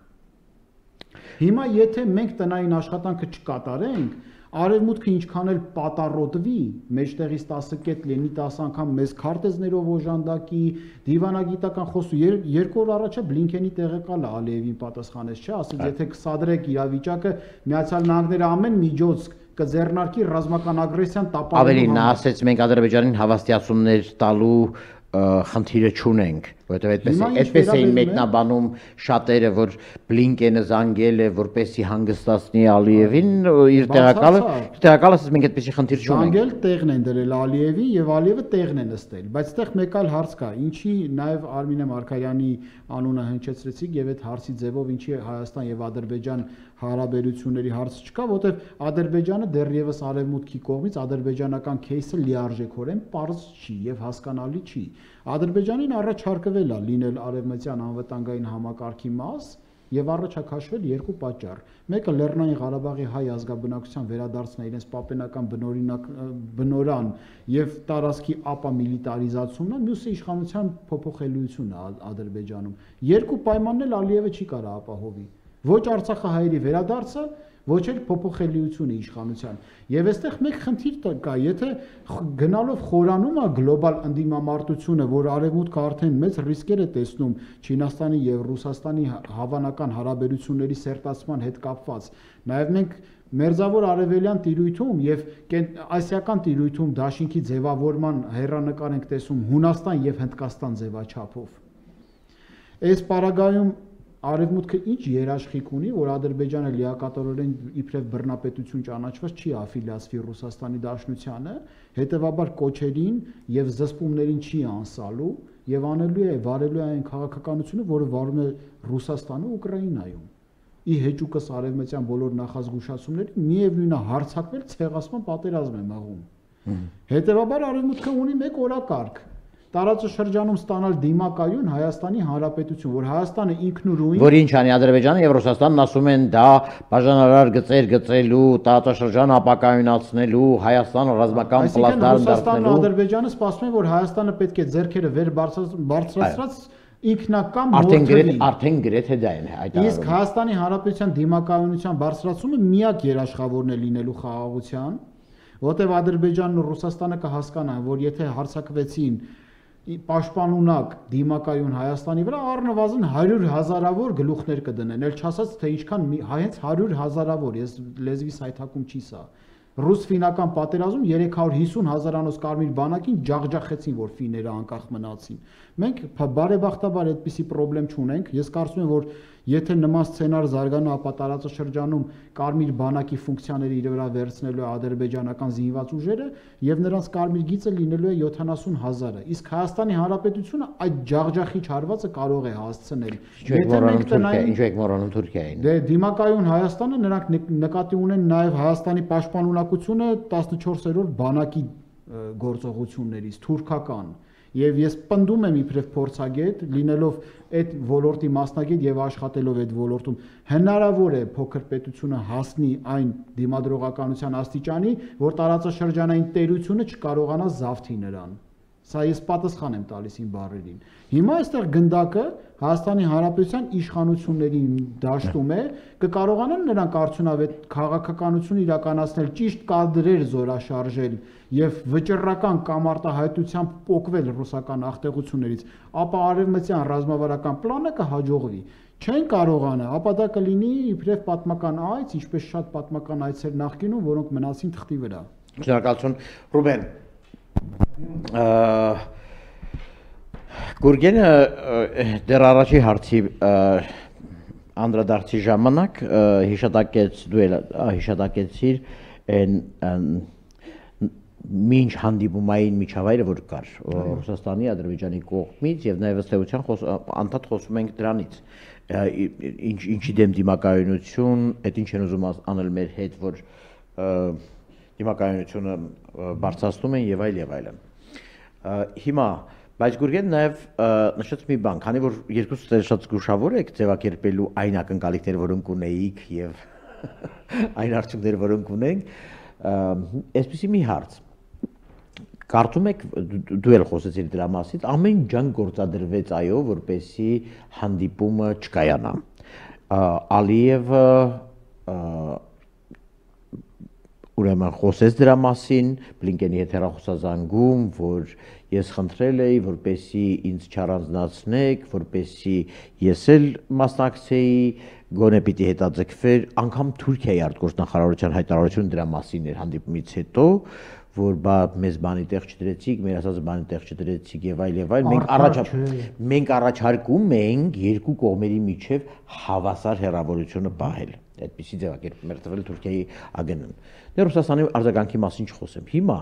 Հիմա եթե մենք տնային աշխատանքը չկատարենք, Արևմուտքը ինչքան էլ պատառոտվի, մեջտեղից 10 կետ լինի 10 անգամ մեզ քարտեզներով օժանդակի, դիվանագիտական խոսու 2 օր առաջ Բլինքենի տեղեկալը Ալիևին պատասխանեց, չէ, ասեց, եթե կսադրեք իրավիճակը, Միացյալ Նահանգները ամեն միջոց կձեռնարկի ռազմական ագրեսիան տապալելու համար։ Ավելին նա ասեց, մենք Ադրբեջանին հավաստիացումներ տալու խնդիրը չունենք, որովհետև այդպես էին մեկնաբանում շատերը, որ Բլինկենը զանգել է, որպեսզի հանգստացնի Ալիևին, իր տեղակալը ասեց, մենք այդպեսի խնդիր չունենք։ Զանգել տեղն են դրել Ալիևին եւ Ալիևը տեղն է նստել, բայց այդտեղ մեկ այլ հարց կա, ինչի նաեւ Արմինե Մարգարյանի անունը հնչեցրեցիք եւ այդ հարցի ձևով ինչի Հայաստան եւ Ադրբեջան հարաբերությունների հարցը չկա, որտեղ Ադրբեջանը դեռևս արևմուտքի կողմից ադրբեջանական кейսը լիարժեքորեն պարզ չի եւ հասկանալի չի։ Ադրբեջանին առաջարկվել է լինել արևմտյան անվտանգային համակարգի մաս եւ առաջակաշվել 2 պատճառ։ Մեկը Լեռնային Ղարաբաղի հայ ազգաբնակության վերադարձն է իրենց պապենական բնորան եւ տարածքի ապամիլիտարիզացումն է, մյուսը իշխանության փոփոխելիությունն է Ադրբեջանում։ 2 պայմանն էլ Ալիևը չի կարող ապահովի։ Ոչ Արցախահայերի վերադարձը, ոչ էլ փոփոխելիությունը իշխանության։ Եվ այստեղ մեկ խնդիր կա, եթե գնալով խորանում է գլոբալ ընդդիմամարտությունը, որ արևմուտքը արդեն մեծ ռիսկեր է տեսնում Չինաստանի եւ Ռուսաստանի հավանական հարաբերությունների սերտացման հետ կապված, նաեւ մենք մերձավոր արևելյան տիրույթում եւ ասիական տիրույթում դաշինքի ձևավորման հեռանկար ենք տեսում Հունաստան եւ Հնդկաստան ձևաչափով։ Այս պարագայում Արևմուտքը ինչ երաշխիք ունի, որ Ադրբեջանը լիակատարորեն իբրև բռնապետություն ճանաչված չի աֆիլիացվի Ռուսաստանի Դաշնությանը, հետևաբար կոչերին եւ զսպումներին չի անսալու եւ անելու է վարելու այն քաղաքականությունը, որը վարում է Ռուսաստանը Ուկրաինայում։ Ի հեճուկս արևմտյան բոլոր նախազգուշացումների միևնույն է հարձակվել ցեղասման պատերազմ է մղում։ Հետևաբար Արևմուտքը ունի մեկ օրակարգ տարածաշրջանում ստանալ դիմակայուն Հայաստանի Հանրապետություն, որ Հայաստանը ինքնուրույն, որ ինչ անի Ադրբեջանը եւ Ռուսաստանն ասում են դա բաժանարար գծեր գծելու, տարածաշրջան ապակայունացնելու, Հայաստանը ռազմական պլատֆորմ դարձնելու։ Ադրբեջանը սպասում է, որ Հայաստանը պետք է ձեռքերը վեր բարձրացրած ինքնական մորթվի։ Արդեն գրեթե դա են հայտարարում։ Իսկ Հայաստանի Հանրապետության դիմակայունության բարձրացումը միակ երաշխավորն է լինելու խաղաղության, որտեղ Ադրբեջանն ու Ռուսաստանը կհասկանան, որ եթե հարձակվեցին պաշտպանունակ դիմակայուն Հայաստանի վրա առնվազն 100 հազարավոր գլուխներ կդնեն, ել չասած թե ինչքան հենց 100 հազարավոր, ես լեզվիս հայթակում չի սա։ Ռուս-ֆինական պատերազմում 350 հազարանոց կարմիր բանակին ջախջախեցին, որ ֆիները անկախ մնացին։ Մենք բարեբախտաբար այդպիսի խնդրեմ չունենք։ Ես կարծում եմ, որ եթե նման սցենար զարգանա, ապա տարածաշրջանում կարմիր բանակի ֆունկցիաները իր վրա վերցնելու է ադրբեջանական զինված ուժերը եւ նրանց կարմիր գիծը լինելու է 70,000-ը։ Իսկ Հայաստանի Հանրապետությունը այդ ջախջախիչ հարվածը կարող է հասցնել։ Եթե մենք տնային, ինչու եք մոռանում Թուրքիային։ Դե դիմակայուն Հայաստանը նրանք նկատի ունեն նաեւ Հայաստանի պաշտպանունակությունը 14-րդ բանակի գործողություններից թուրքական։ Եվ ես պնդում եմ իբրև փորձագետ, լինելով այդ ոլորտի մասնագետ եւ աշխատելով այդ ոլորտում, հնարավոր է փոքր պետությունը հասնի այն դիմադրողականության աստիճանի, որ տարածաշրջանային տերությունը չկարողանա զավթի նրան։ Սա ես պատասխան եմ տալիս իմ բառերին։ Հիմա այստեղ գնդակը Հայաստանի Հանրապետության իշխանությունների դաշտում է, կկարողանան նրանք արդյունավետ քաղաքականություն իրականացնել, ճիշտ կադրեր զորաշարժել եւ վճռական կամ արտահայտությամբ պոկվել ռուսական ախտեղություններից, ապա արևմտյան ռազմավարական պլանը կհաջողվի։ Չեն կարողանա, ապա դա կլինի իբրև պատմական այց, ինչպես շատ պատմական այցեր նախկինում, որոնք մնացին թղթի վրա։ Շնորհակալություն, Ռուբեն։ Գուրգենը դեռ առաջի հարցի անդրադարձի ժամանակ հիշատակեցիր մինչ հանդիպումային միջավայրը, որ կար Ռուսաստանի, Ադրբեջանի կողմից եւ նաեւ ըստ էության անդադ խոսում ենք դրանից, ինչի դեմ դիմակայունություն, այդ ինչ են ուզում անել մեր հետ, որ դիմակայունությունը բարձրացնում են եւ այլն։ Հիմա, բայց Գուրգեն նաև նշեց մի բան, քանի որ երկուսս շատ զգուշավոր եք ձևակերպելու այն ակնկալիքները, որոնք ունեիք եւ այն արդյունքները, որոնք ունենք, այսպեսի մի հարց։ Կարծում եք, դու էլ խոսեցիր դրա մասին, ամեն ջանք գործադրվեց այո, որպեսզի հանդիպումը չկայանա։ Ալիևը ուրեմն խոսեց դրա մասին, Բլինկենի հետ հեռախոսազանգում, որ ես խնդրել էի, որպեսզի ինձ չառանձնացնեք, որպեսզի ես էլ մասնակցեի, գոնե պիտի հետաձգվեր, անգամ Թուրքիայի արտգործնախարարության հայտարարությունը դրա մասին էր հանդիպումից հետո, որ մեզ բանի տեղ չդրեցիք, մեր ասած բանի տեղ չդրեցիք եւ այլ, մենք առաջարկում ենք երկու կողմերի միջև հավասար հեռավորությունը պահել։ Այդպիսի ձևակերպում էր տվել Թուրքիայի ԱԳՆ-ն։ Դեռ Ռուսաստանի արձագանքի մասին չխոսեմ։ Հիմա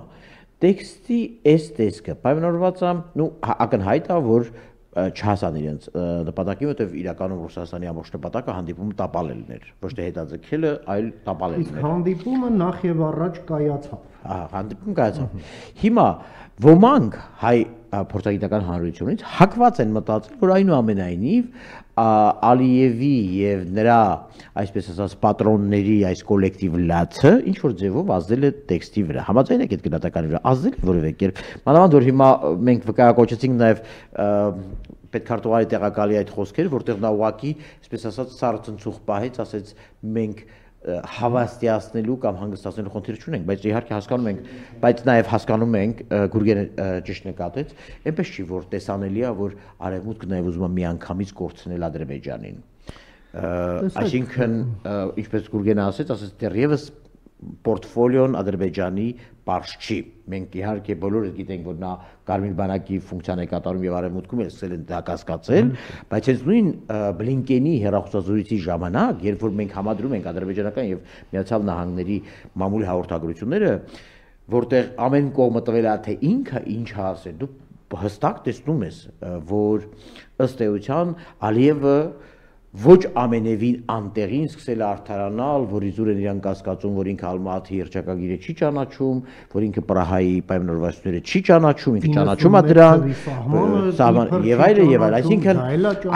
տեքստի այս տեսքը պայմանավորված է, ակնհայտ է, որ չհասան իրենց նպատակի, որտեղ իրականում Ռուսաստանի ամբողջ նպատակը հանդիպումը տապալելն էր, ոչ թե հետաձգելը, այլ տապալելն էր։ Իսկ հանդիպումը նախ եւ առաջ կայացավ։ Հանդիպում կայացավ։ Հիմա ոմանք հայ փորձագիտական հանրությունից հակված են մտածել, որ այնուամենայնիվ Ալիևի եւ նրա, այսպես ասած, պատրոնների այս կոլեկտիվ լացը ինչ որ ձևով ազդել է տեքստի վրա։ Համաձայն եք այդ գնահատականի վրա, ազդել է որևէ կերպ։ Մանավանդ որ հիմա մենք վկայակոչեցինք նաեւ պետքարտուղարի տեղակալի այդ խոսքերը, որտեղ նա ուղակի, այսպես ասած, սառցնցուղ պահեց, ասեց մենք հավաստիացնելու կամ հանգստացնելու խնդիր չունենք, բայց իհարկե հասկանում ենք, բայց նաև հասկանում ենք, Գուրգենը ճիշտ նկատեց, այնպես չի, որ տեսանելի է, որ Արևմուտքը նաև ուզում է միանգամից կորցնել Ադրբեջանին։ Այսինքն, ինչպես Գուրգենը ասեց, դեռևս պորտֆոլիոն Ադրբեջանի պարզ չի։ Մենք իհարկե բոլորս գիտենք, որ նա Կարմիր բանակի ֆունկցիան է կատարում եւ Արևմուտքում էլ սկսել են դա կասկածել, բայց հենց նույն Բլինկենի հեռախոսազրույցի ժամանակ, երբ որ մենք համադրում ենք ադրբեջանական եւ Միացյալ Նահանգների մամուլի հաղորդագրությունները, որտեղ ամեն կողմը տվել է թե ինքը ինչ է ասել, դու հստակ տեսնում ես, որ ըստ էության Ալիևը ոչ ամենևին անտեղին սկսել է արդարանալ, որ իզուր են իրան կասկածում, որ ինքը Ալմատի հռչակագիրը չի ճանաչում, որ ինքը Պրահայի պայմանավորվածությունները չի ճանաչում, ինքը ճանաչում է դրանք, եւ այլն, այսինքն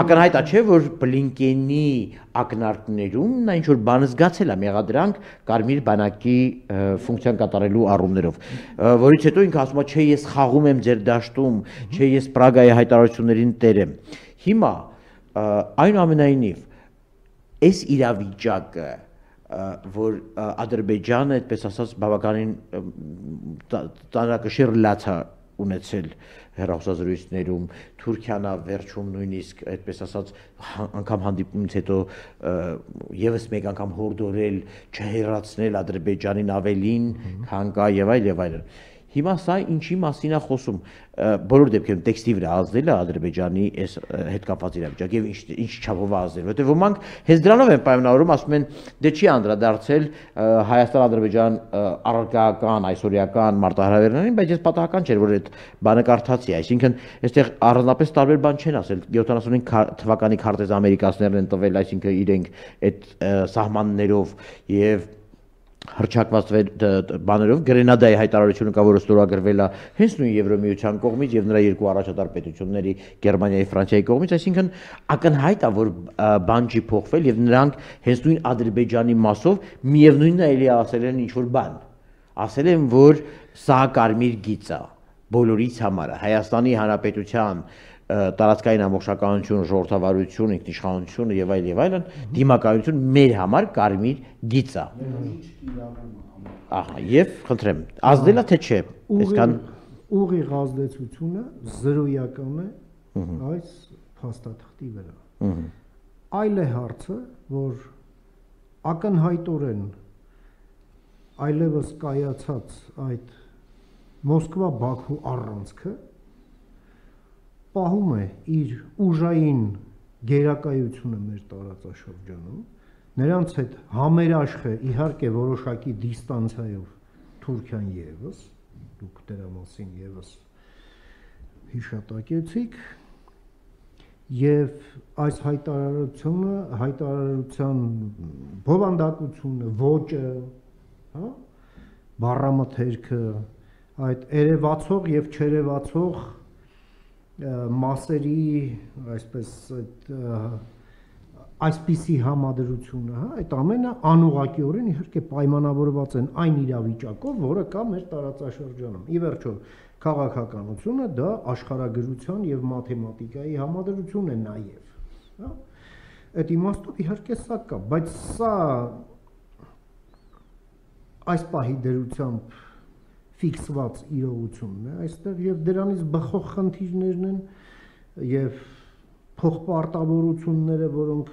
ակնհայտ է, չէ, որ Բլինկենի ակնարկներում նա ինչ որ բան զգացել է մեղադրանք Կարմիր բանակի ֆունկցիան կատարելու առումներով, որից հետո ինքը ասում է, չէ, ես խաղում եմ ձեր դաշտում, չէ, ես Պրագայի հայտարարություններին տեր եմ։ Հիմա այնուամենայնիվ այս իրավիճակը, որ Ադրբեջանը, այդպես ասած, բավականին ծանրակշիռ լաց է ունեցել հեռախոսազրույցներում, Թուրքիան է վերջում նույնիսկ, այդպես ասած, անգամ հանդիպումից հետո եւս մեկ անգամ հորդորել չհեռացնել Ադրբեջանին ավելին, քան կա եւ այլն։ Հիմա սա ինչի մասին է խոսում, բոլոր դեպքերում տեքստի վրա ազդել է Ադրբեջանի այս հետ կապված իրավիճակը եւ ինչ չափով է ազդել, որտեղ ոմանք հենց դրանով են պայմանավորում, ասում են, դե չի անդրադարձել Հայաստան-Ադրբեջան առարկայական, այսօրյական մարտահրավերներին, բայց ես պատահական չէր, որ այդ բանը կարդացի, այսինքն այստեղ առանձնապես տարբեր բան չեն ասել, 75 թվականի քարտեզ ամերիկացիներն են տվել, այսինքն իրենք այդ սահմաններով եւ հռչակված բաներով Գրենադայի հայտարարությունը կա, որը ստորագրվել է հենց նույն Եվրոմիության կողմից եւ նրա երկու առաջատար պետությունների Գերմանիայի, Ֆրանսիայի կողմից, այսինքն ակնհայտ է, որ բան չի փոխվել եւ նրանք հենց նույն Ադրբեջանի մասով միևնույնն է էլի ասել են ինչ որ բան, ասել են, որ սա կարմիր գիծ է բոլորից համար, Հայաստանի Հանրապետության տարածքային ամբողջականություն, ժողովրդավարություն, ինքնիշխանությունը եւ այլն, դիմակայություն մեր համար կարմիր գիծ է։ Ահա, եւ խնդրեմ, ազդելա թե չէ, այսքան ուղիղ ազդեցությունը զրոյական է այս փաստաթղթի վրա։ Այլ է հարցը, որ ակնհայտորեն այլևս կայացած այդ Մոսկվա-Բաքու առանցքը պահում է իր ուժային գերակայությունը մեր տարածաշրջանում, նրանց հետ համերաշխ է իհարկե որոշակի դիստանցիայով Թուրքիան եւս, դուք դրա մասին եւս հիշատակեցիք, եւ այս հայտարարության բովանդակությունը, ոճը, հա, բառամթերքը, այդ երևացող եւ չերևացող մասերի այսպիսի համադրությունը, հա, այդ ամենը անուղղակիորեն իհարկե պայմանավորված են այն իրավիճակով, որը կա մեր տարածաշրջանում։ Ի վերջո, քաղաքականությունը դա աշխարհագրության եւ մաթեմատիկայի համադրություն է նաեւ, հա։ Այդ իմաստով իհարկե սա կա, բայց սա այս պահի դերությամբ ֆիքսված իրողությունն է այստեղ եւ դրանից բխող խնդիրներն են եւ փոխպարտավորությունները, որոնք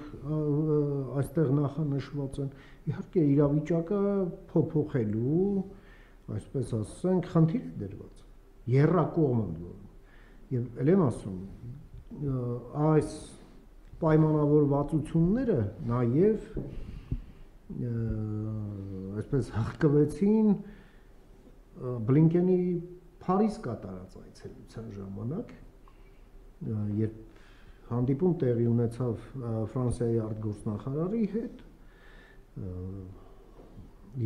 այստեղ նախանշված են, իհարկե իրավիճակը փոփոխելու, այսպես ասենք, խնդիր է դրված, եռակողմ են որում։ Եվ ել եմ ասում, այս պայմանավորվածությունները նաև այսպես հղկվեցին Բլինկենի Փարիզ կատարած այցելության ժամանակ, երբ հանդիպում տեղի ունեցավ Ֆրանսիայի արտգործնախարարի հետ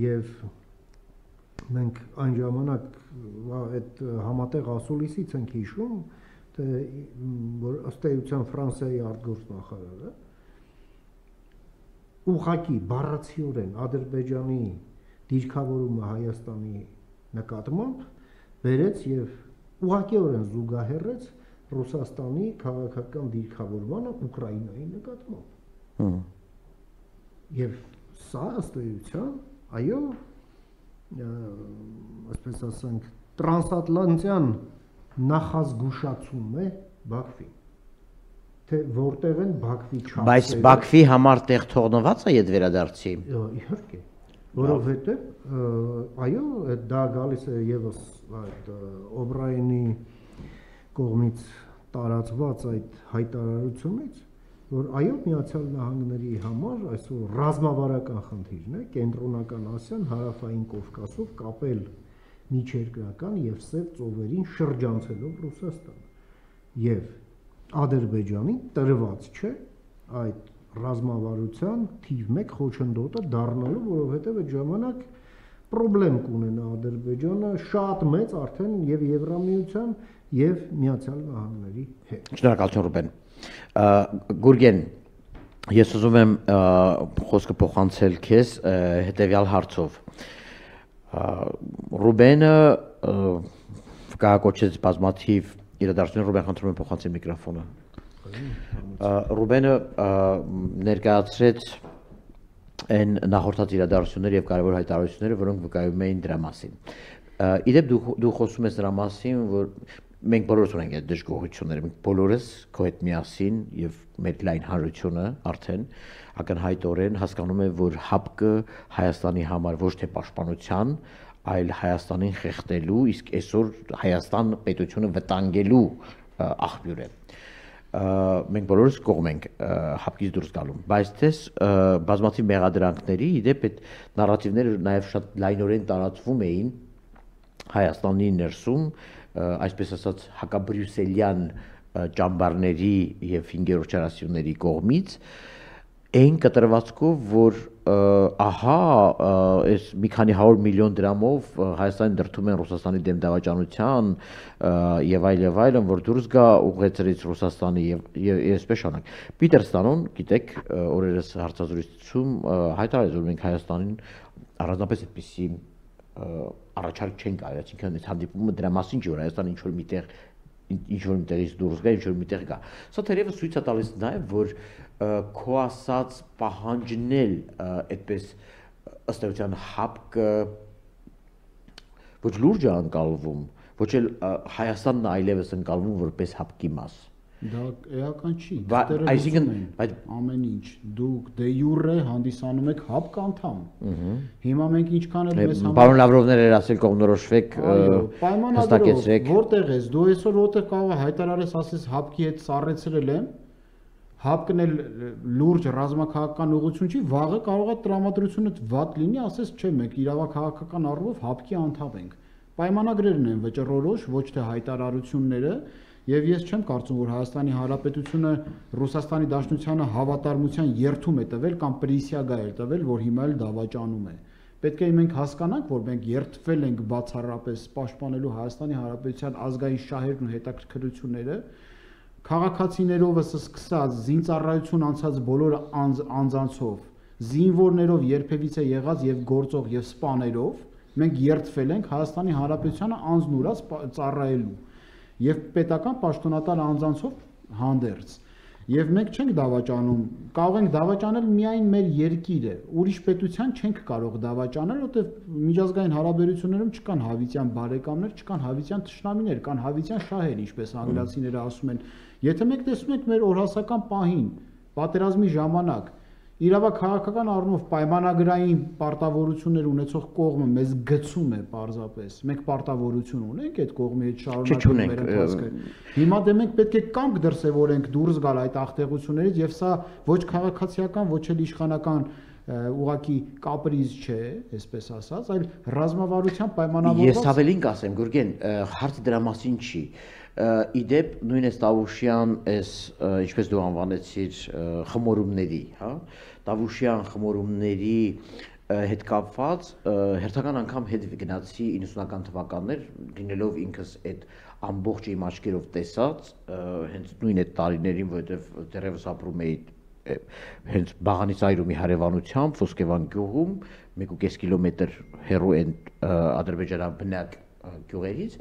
եւ մենք այն ժամանակ այդ համատեղ ասուլիսից ենք հիշում, թե որ ըստ էության Ֆրանսիայի արտգործնախարարը ուղղակի բառացիորեն Ադրբեջանի դիրքավորումը Հայաստանի նկատմամբ բերեց եւ ուղղակիորեն զուգահեռեց Ռուսաստանի քաղաքական դիրքավորմանը Ուկրաինայի նկատմամբ։ Եվ սա ըստ էության, այո, այսպես ասենք, տրանսատլանտյան նախազգուշացում է Բաքվին, թե որտեղ են Բաքվի չափսերը։ Բայց Բաքվի համար տեղ թողնված է այդ վերադարձի։ Իհարկե, որովհետև այո, դա գալիս է եւս այդ Օբրայենի կողմից տարածված այդ հայտարարությունից, որ այո, Միացյալ Նահանգների համար այսօր ռազմավարական խնդիրն է Կենտրոնական Ասիան հարավային Կովկասով կապել միջերկրական եւ Սև ծովերին շրջանցելով Ռուսաստանը։ Եվ Ադրբեջանին տրված չէ այդ ռազմավարության թիվ 1 խոչընդոտը դառնալու, որովհետեւ այդ ժամանակ պրոբլեմ կունենա Ադրբեջանը շատ մեծ արդեն եւ Եվրամիության եւ Միացյալ Նահանգների հետ։ Շնորհակալություն Ռուբեն։ Գուրգեն, ես ուզում եմ խոսքը փոխանցել քեզ հետեւյալ հարցով։ Ռուբենը կահակոչեց բազմաթիվ իրադարձություններ, Ռուբեն խնդրում եմ փոխանցել միկրոֆոնը։ Ռուբենը ներկայացրեց այն նախորդած իրադարձությունները եւ կարևոր հայտարարությունները, որոնք վկայում էին դրա մասին։ Իդեպ դու խոսում ես դրա մասին, որ մենք բոլորս ունենք այդ դժգոհությունները, մենք բոլորս քո հետ միասին եւ մեր լայն հանրությունը արդեն ակնհայտորեն հասկանում է, որ ՀԱՊԿ-ը Հայաստանի համար ոչ թե պաշտպանության, այլ Հայաստանին խեղդելու, իսկ այսօր Հայաստան պետությունը վտանգելու աղբյուր է։ Մենք բոլորս կողմ ենք ՀԱՊԿ-ից դուրս գալու, բայց դες բազմաթիվ մեղադրանքների իդեպ այդ նարատիվները նաև շատ լայնորեն տարածվում էին Հայաստանի ներսում, այսպես ասած հակաբրյուսելյան ճամբարների եւ 5-րդ չարասյունների կողմից այն կտրվածքով, որ ահա այս մի քանի 100 միլիոն դրամով Հայաստանի դրդում են Ռուսաստանի դեմ դավաճանության եւ այլն, որ դուրս գա ուղղեցրից Ռուսաստանի եւ այսպես շանակ։ Պիտերստանոն, գիտեք, օրերս հարցազրույցում հայտարարեց, որ մենք Հայաստանին առանձնապես այդպիսի առաջարկ չենք արել, այսինքն այս հանդիպումը դրա մասին չի, որ Հայաստանը ինչ որ միտեղից դուրս գա, ինչ որ միտեղ գա։ Սա թերևս ցույց է տալիս նաև, որ քո ասած պահանջն էլ այդպես ըստ էության ՀԱՊԿ-ը ոչ լուրջ է անցալվում, ոչ էլ Հայաստանն այլևս ընկալվում որպես ՀԱՊԿ-ի մաս։ Դա էական չի, այսինքն ամեն ինչ դուք դե յուրե հանդիսանում եք ՀԱՊԿ անդամ։ Հիմա մենք ինչքան էլ մեզ համար Պարոն Լավրովներ էր ասել կողմնորոշվեք, հստակեցրեք։ Որտեղ ես, դու այսօր որտեղ կարող հայտարարես, ասես ՀԱՊԿ-ի հետ սառեցրել եմ, ՀԱՊԿ-ն էլ լուրջ ռազմաքաղաքական ուղղություն չի, վաղը կարող է տրամադրությունը վատ լինի, ասես չէ, մենք իրավաքաղաքական առումով ՀԱՊԿ-ի անդամ ենք։ Պայմանագրերն են վճռորոշ, ոչ թե հայտարարությունները։ Եվ ես չեմ կարծում, որ Հայաստանի Հանրապետությունը Ռուսաստանի Դաշնությանը հավատարմության երթում է տվել կամ պրիսիագա է տվել, որ հիմա էլ դավաճանում է։ Պետք է մենք հասկանանք, որ մենք երթվել ենք բացառապես պաշտպանելու Հայաստանի Հանրապետության ազգային շահերն ու հետաքրքրությունները, քաղաքացիներովս սկսած զինծառայություն անցած բոլոր անձանցով, զինվորներով երբևիցե եղած եւ գործող եւ սպաներով, մենք երթվել ենք Հայաստանի Հանրապետությանը անձնուրաց ծառայելու եւ պետական պաշտոնատար անձանցով հանդերձ։ Եվ մենք չենք դավաճանում, կարող ենք դավաճանել միայն մեր երկիրը, ուրիշ պետության չենք կարող դավաճանել, որտեղ միջազգային հարաբերություններում չկան հավիտյան բարեկամներ, չկան հավիտյան թշնամիներ, կան հավիտյան շահեր, ինչպես անգլիացիները ասում են։ Եթե մենք տեսնում ենք մեր օրհասական պահին, պատերազմի ժամանակ, իրավաքաղաքական առումով պայմանագրային պարտավորություններ ունեցող կողմը մեզ գցում է պարզապես։ Մենք պարտավորություն ունենք այդ կողմի հետ շարունակել մեր ընթացքը։ Հիմա դե մենք պետք է կամք դրսևորենք դուրս գալ այդ աղտեղություններից եւ սա ոչ քաղաքացիական, ոչ էլ իշխանական ուղակի կապրիզ չէ, այսպես ասած, այլ ռազմավարության պայմանավորված։ Ես ավելին կասեմ, Գուրգեն, հարցը դրա մասին չի։ Իդեպ նույն էս Տավուշյան, ինչպես դու անվանեցիր, խմորումների, հա, Տավուշյան խմորումների հետ կապված հերթական անգամ հետ գնացի 90-ական թվականներ, լինելով ինքս այդ ամբողջ իմ աչքերով տեսած, հենց նույն այդ տարիներին, որովհետև դեռևս ապրում էի հենց Բաղանից-Այրումի հարևանությամբ, Ոսկեվան գյուղում, 1.5 կիլոմետր հեռու են ադրբեջանաբնակ գյուղերից,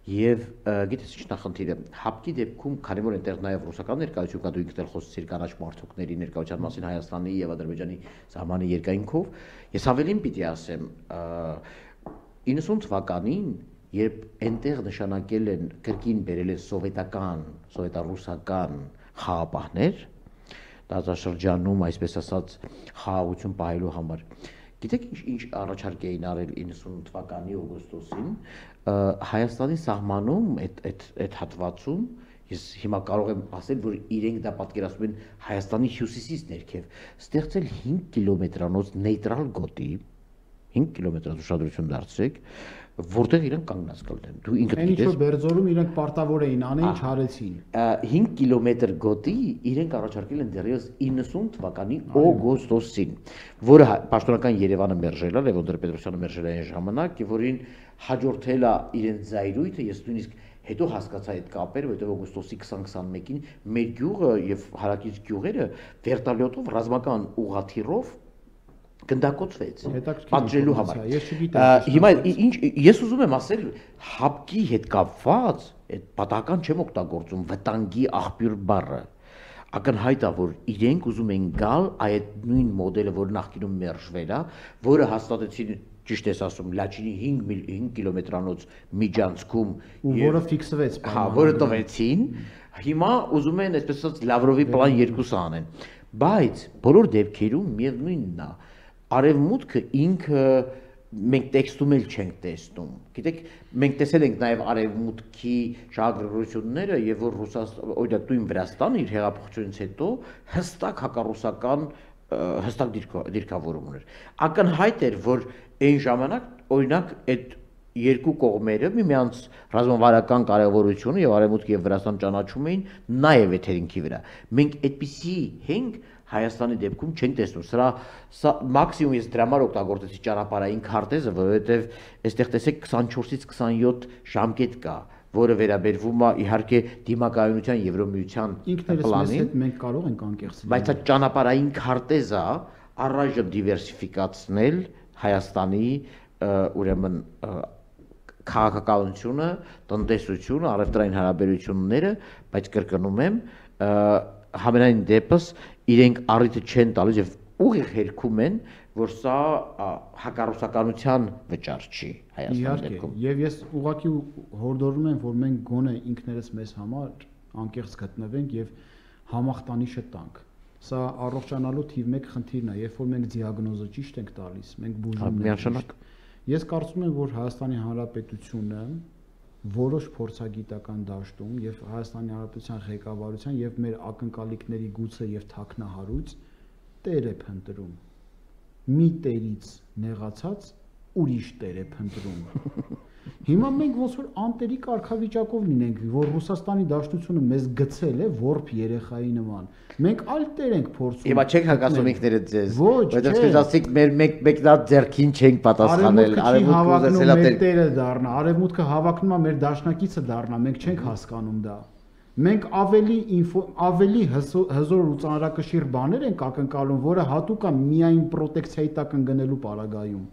եւ գիտես ինչ նախնդիրը, հապկի դեպքում, քանի որ այնտեղ նաեւ ռուսական ներկայություն կա, դու ինքդ էլ խոսեցիր կանաչ մարդուկների ներկայության մասին Հայաստանի եւ Ադրբեջանի սահմանի երկայնքով, ես ավելին պիտի ասեմ, 90 թվականին, երբ այնտեղ նշանակել են կրկին բերել են սովետառուսական խաղապահներ, տարածաշրջանում, այսպես ասած, խաղաղություն պահելու համար։ Գիտեք ինչ առաջարկ էին արել 90 թվականի օգոստոսին, Հայաստանի սահմանում այդ հատվածում, ես հիմա կարող եմ ասել, որ իրենք դա պատկերացնում են Հայաստանի հյուսիսից ներքև, ստեղծել 5 կիլոմետրանոց նեյտրալ գոտի, 5 կիլոմետրանոց ուշադրություն դարձրեք, որտեղ իրենք կանգնած կլինեն։ Դու ինքդ գիտես։ Ինչ որ Բերձորում իրենք պարտավոր էին անեն, չարեցին։ 5 կիլոմետր գոտի իրենք առաջարկել են դեռևս 90 թվականի օգոստոսին, որը պաշտոնական Երևանը մերժել է, Լևոն Տեր-Պետրոսյանը մերժել է այն ժամանակ, եւ որին հաջորդել է իրենց զայրույթը, ես նույնիսկ հետո հասկացա այդ կապերը, որովհետև օգոստոսի 20-21-ին մեր գյուղը եւ հարակից գյուղերը վերտալյոտով ռազմական ուղղաթիռով գնդակոծվեց պատժելու համար։ Հիմա ինչ ես ուզում եմ ասել, հապկի հետ կապված այդ պատահական չեմ օգտագործում վտանգի աղբյուր բառը։ Ակնհայտ է, որ իրենք ուզում են գալ այդ նույն մոդելը, որ նախկինում մերժվել է, որը հաստատեցին, ճիշտ ես ասում, Լաչինի 5 կիլոմետրանոց միջանցքում, որը ֆիքսվեց, հա, որը տվեցին, հիմա ուզում են այսպես ասած Լավրովի պլան 2-ը անեն, բայց բոլոր դեպքերում միևնույնն է, Արևմուտքը ինքը մենք տեքստում էլ չենք տեսնում։ Գիտեք, մենք տեսել ենք նաև Արևմուտքի շահագրգռությունները, եւ որ օրինակ դու Վրաստանը իր հեղափոխությունից հետո հստակ հակառուսական հստակ դիրքավորում ուներ։ Ակնհայտ էր, որ այն ժամանակ օրինակ այդ երկու կողմերը միմյանց ռազմավարական կարևորությունը եւ Արևմուտքը եւ Վրաստան ճանաչում էին նաեւ եթերինքի վրա։ Մենք այդպիսի հենք Հայաստանի դեպքում չենք տեսնում, սա մաքսիմում ես դրա համար օգտագործեցի ճանապարհային քարտեզը, որովհետև այստեղ տեսեք 24-ից 27 ժամկետ կա, որը վերաբերվում է իհարկե դիմակայունության Եվրոմիության պլանին։ Մենք կարող ենք անկեղծ լինել։ Բայց այդ ճանապարհային քարտեզը առայժմ դիվերսիֆիկացնել Հայաստանի ուրեմն քաղաքականությունը, տնտեսությունը, առևտրային հարաբերությունները, բայց կրկնում եմ, համենայն դեպս իրենք առիթը չեն տալիս եւ ուղիղ հերքում են, որ սա հակառուսականության վճար չի Հայաստանի դեպքում։ Եվ ես ուղղակի հորդորում եմ, որ մենք գոնե ինքներս մեզ համար անկեղծ գտնվենք եւ համախտանիշը տանք։ Սա առողջանալու թիվ 1 խնդիրն է, երբ որ մենք դիագնոզը ճիշտ ենք տալիս, մենք բուժում ենք։ Ես կարծում եմ, որ Հայաստանի Հանրապետությունը որոշ փորձագիտական դաշտում եւ Հայաստանի Հանրապետության ղեկավարության եւ մեր ակնկալիքների գուցե եւ թաքնահարույց տեր է փնտրում։ Մի տերից նեղացած ուրիշ տեր է փնտրում։ Հիմա մենք ոնց որ անտերի կարգավիճակով լինենք, որ Ռուսաստանի Դաշնությունը մեզ գցել է որբ երեխայի նման։ Մենք այլ տեր ենք փորձում։ Հիմա չեք հակասում ինքներդ ձեզ։ Որտեղ ասեք մեր մեկ դա ձերքին չենք պատասխանել, արևմուտքը զեսելա տերը դառնա, արևմուտքը հավակնում է մեր դաշնակիցը դառնա, մենք չենք հասկանում դա։ Մենք ավելի հզոր ու ծանրակշիռ բաներ ենք ակնկալում, որը հատուկ է միայն պրոտեկցիայի տակ ընկնելու պարագայում։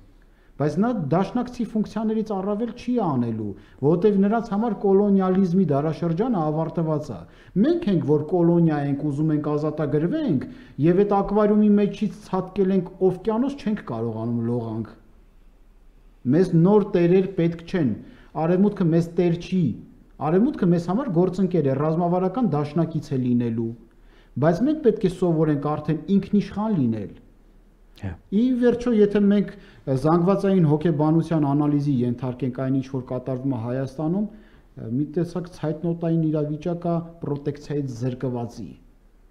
բայց նա դաշնակցի ֆունկցիաներից առավել չի անելու, որովհետև նրանց համար կոլոնիալիզմի դարաշրջանը ավարտված է։ Մենք ենք, որ կոլոնիա ենք, ուզում ենք ազատագրվենք, եւ այդ ակվարիումի մեջից ցատկել ենք օվկիանոս, չենք կարողանում լողանք։ Մեզ նոր տերեր պետք չեն, արևմուտքը մեզ տեր չի, արևմուտքը մեզ համար գործընկեր է, ռազմավարական դաշնակից է լինելու, բայց մենք պետք է սովորենք արդեն ինքնիշխան լինել։ Ի վերջո, եթե մենք զանգվածային հոգեբանության անալիզի ենթարկենք այն, ինչ որ կատարվում է Հայաստանում, մի տեսակ ցայտնոտային իրավիճակ է պրոտեկցիայից զրկվածի,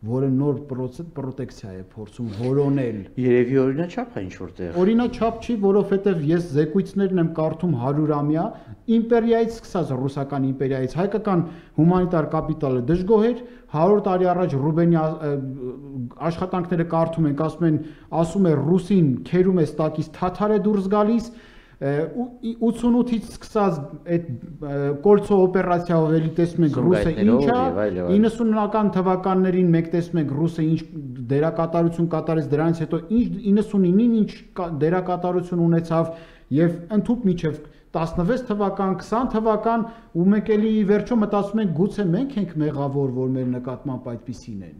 որը նոր պրոտեկցիա է փորձում որոնել։ Երևի օրինաչափ է ինչ որտեղ։ Օրինաչափ չի, որովհետև ես զեկույցներն եմ կարդում 100-ամյա, իմպերիայից սկսած ռուսական իմպերիայից, հայկական հումանիտար կապիտալը դժգոհ էր, 100 տարի առաջ Ռուբենի աշխատանքները կարդում ենք, ասում է ռուսին քերում է ստակից թաթար է դուրս գալիս, 88-ից սկսած այդ կոլցո օպերացիայով էլի տեսնում ենք ռուսը ինչ է, 90-ական թվականներին մենք տեսնում ենք ռուսը ինչ դերակատարություն կատարեց, դրանից հետո ինչ 99-ին ինչ դերակատարություն ունեցավ եւ ընդհուպ միջև 16 թվական, 20 թվական ու մենք էլի վերջո մտածում ենք գուցե մենք ենք մեղավոր, որ մեր նկատմամբ այդպիսին են։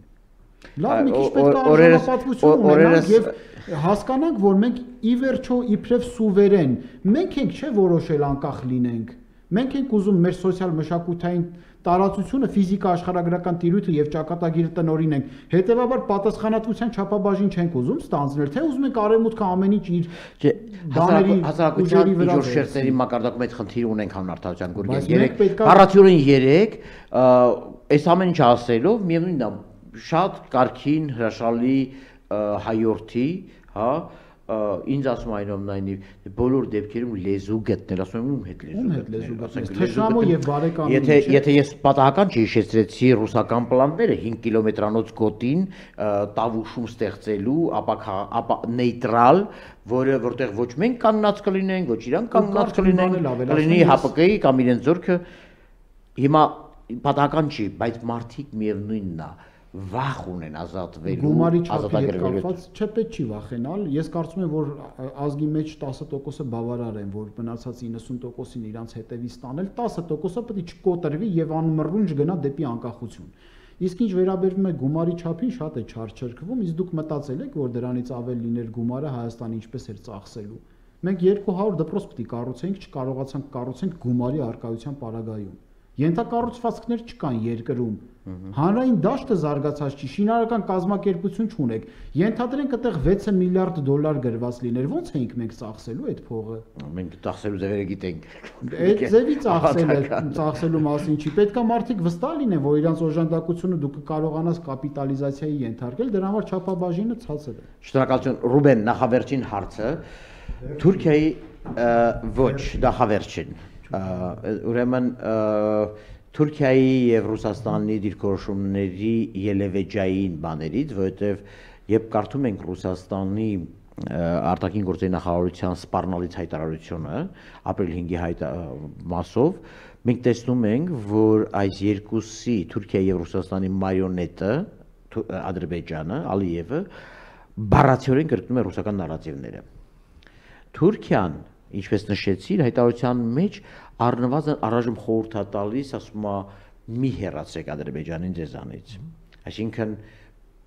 Լավ, մի քիչ պետք է արժանապատվություն ունենանք եւ հասկանանք, որ մենք ի վերջո իբրև սուվերեն, մենք ենք չէ որոշել անկախ լինենք։ Մենք ենք ուզում մեր սոցիալ մշակութային տարածությունը, ֆիզիկա աշխարհագրական տիրույթը եւ ճակատագիրը տնօրինենք։ Հետեւաբար պատասխանատվության չափաբաժին չենք ուզում ստանձնել, թե ուզում ենք արևմուտքը ամեն ինչ իր դաների ուժերի վրա շերտերի մակարդակում այդ խնդիրը ունենք հանրարտահայտության գորգեն 3 բառացիորեն 3 այս ամեն ինչ ասելով միևնույնն է շատ կարքին հրաշալի հայորդի, հա, ինձ ասում այնուամենայնիվ բոլոր դեպքերում լեզու գտնել, ասում եմ ում հետ լեզու գտնել, թշնամու եւ բարեկամի։ Եթե ես պատահական չհիշեցրեցի ռուսական պլանները 5 կիլոմետրանոց գոտին տավուշում ստեղծելու, ապա նեյտրալ, որտեղ ոչ մենք կանգնած կլինենք, ոչ իրանք կանգնած կլինենք, կլինի ՀԱՊԿ-ի կամ իրենց զորքը, հիմա պատահական չի, բայց մարդիկ միևնույնն է վախ ունեն ազատվելու, գումարի չափի հետ կապված չէ, պետք չի վախենալ։ Ես կարծում եմ, որ ազգի մեջ 10%-ը բավարար են, որ մնացած 90%-ին իրանց հետևից տանել, 10%-ը պետք է չկոտրվի եւ անմռունչ գնա դեպի անկախություն։ Իսկ ինչ վերաբերվում է գումարի չափին, շատ է չարչրկվում, իսկ դուք մտածել եք, որ դրանից ավել լիներ գումարը Հայաստանի ինչպես էր ծախսելու։ Մենք 200 դպրոց պետք է կառուցենք, չկարողացանք կառուցենք գումարի արկայության պարագայում։ Ենթակառուցվածքներ չկան երկրում, հանրային դաշտը զարգացած չի, շինարարական կազմակերպություն չունեք, ենթադրենք այդտեղ 6 միլիարդ դոլար գրված լիներ, ո՞նց էինք մենք ծախսելու այդ փողը։ Մենք ծախսելու ձևերը գիտենք։ Այդ ձևի ծախսելու մասին չի, պետք է մարդիկ վստահ լինեն, որ իրանց օժանդակությունը դու կկարողանաս կապիտալիզացիայի ենթարկել, դրա համար չափաբաժինը ցածր է։ Շնորհակալություն, Ռուբեն, նախավերջին հարցը Թուրքիայի ոչ, նախավերջին ուրեմն Թուրքիայի եւ Ռուսաստանի դիրքորոշումների ելևեջային բաներից, որովհետեւ երբ կարդում ենք Ռուսաստանի արտաքին գործերի նախարարության սպառնալից հայտարարությունը ապրիլ 5-ի մասով, մենք տեսնում ենք, որ այս երկուսի Թուրքիայի եւ Ռուսաստանի մարիոնետը Ադրբեջանը, Ալիևը բառացիորեն կրկնում է ռուսական նարատիվները։ Թուրքիան, ինչպես նշեցի, հայտարարության մեջ առնվազն առայժմ խորհուրդ է տալիս, ասում է մի հեռացեք Ադրբեջանին ձեզանից։ Այսինքն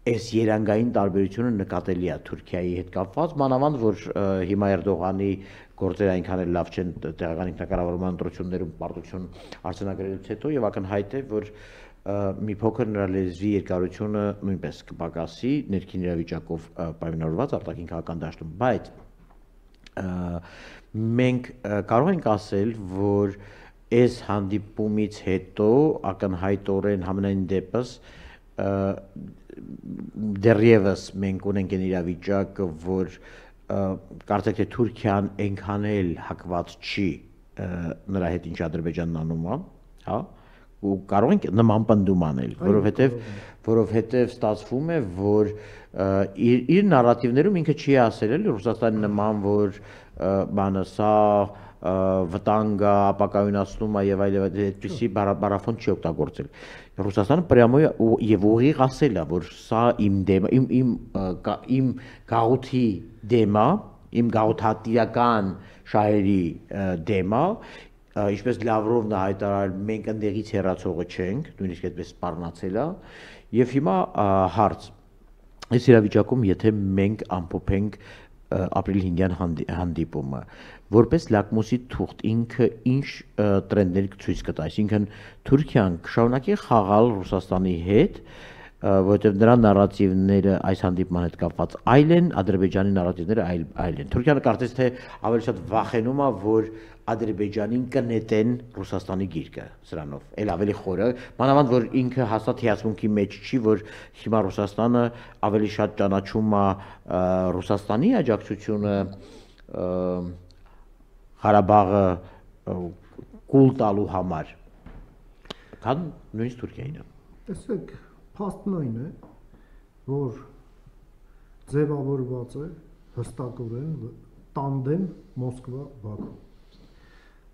այս երանգային տարբերությունը նկատելի է Թուրքիայի հետ կապված, մանավանդ որ հիմա Էրդողանի գործերը այնքան էլ լավ չեն տեղական ինքնակառավարման ընտրություններում պարտություն արձանագրելուց հետո եւ ակնհայտ է, որ մի փոքր նրա լեզվի երկարությունը նույնպես կպակասի ներքին իրավիճակով պայմանավորված արտաքին քաղաքական դաշտում, բայց մենք կարող ենք ասել, որ այս հանդիպումից հետո ակնհայտորեն համենայն դեպս դեռևս մենք ունենք այն իրավիճակը, որ կարծեք թե Թուրքիան այնքան էլ հակված չի նրա հետ ինչ Ադրբեջանն անում է, հա, ու կարող ենք նման պնդում անել, որովհետև ստացվում է, որ իր նարատիվներում ինքը չի ասել էլի Ռուսաստանի նման, որ բանը սա վտանգ է, ապակայունացնում է եւ այլ այդպիսի բառաֆոն չի օգտագործել։ Ռուսաստանը պրյամո եւ ուղիղ ասել է, որ սա իմ դեմ, իմ գաղութի դեմ է, իմ գաղութատիրական շահերի դեմա, ինչպես Լավրովն է հայտարարել, մենք ընդեղից հեռացողը չենք, նույնիսկ այդպես սպառնացել է, եւ հիմա հարց, այս իրավիճակում եթե մենք ամփոփենք ապրիլի 5-յան հանդիպումը, որպես լակմուսի թուղթ ինքը ինչ տրենդներ ցույց կտա, այսինքն Թուրքիան կշարունակի խաղալ Ռուսաստանի հետ, որովհետև նրա նարատիվները այս հանդիպման հետ կապված այլ են, Ադրբեջանի նարատիվները այլ են։ Թուրքիան կարծես թե ավելի շատ վախենում է, որ Ադրբեջանին կնետեն Ռուսաստանի գիրկը սրանով, էլ ավելի խորը, մանավանդ որ ինքը հաստատ հիացմունքի մեջ չի, որ հիմա Ռուսաստանը ավելի շատ ճանաչում է Ռուսաստանի աջակցությունը Ղարաբաղը կուլ տալու համար, քան նույնիսկ Թուրքիային։ Տեսեք, փաստն այն է, որ ձևավորված է հստակորեն տանդեմ Մոսկվա-Բաքու։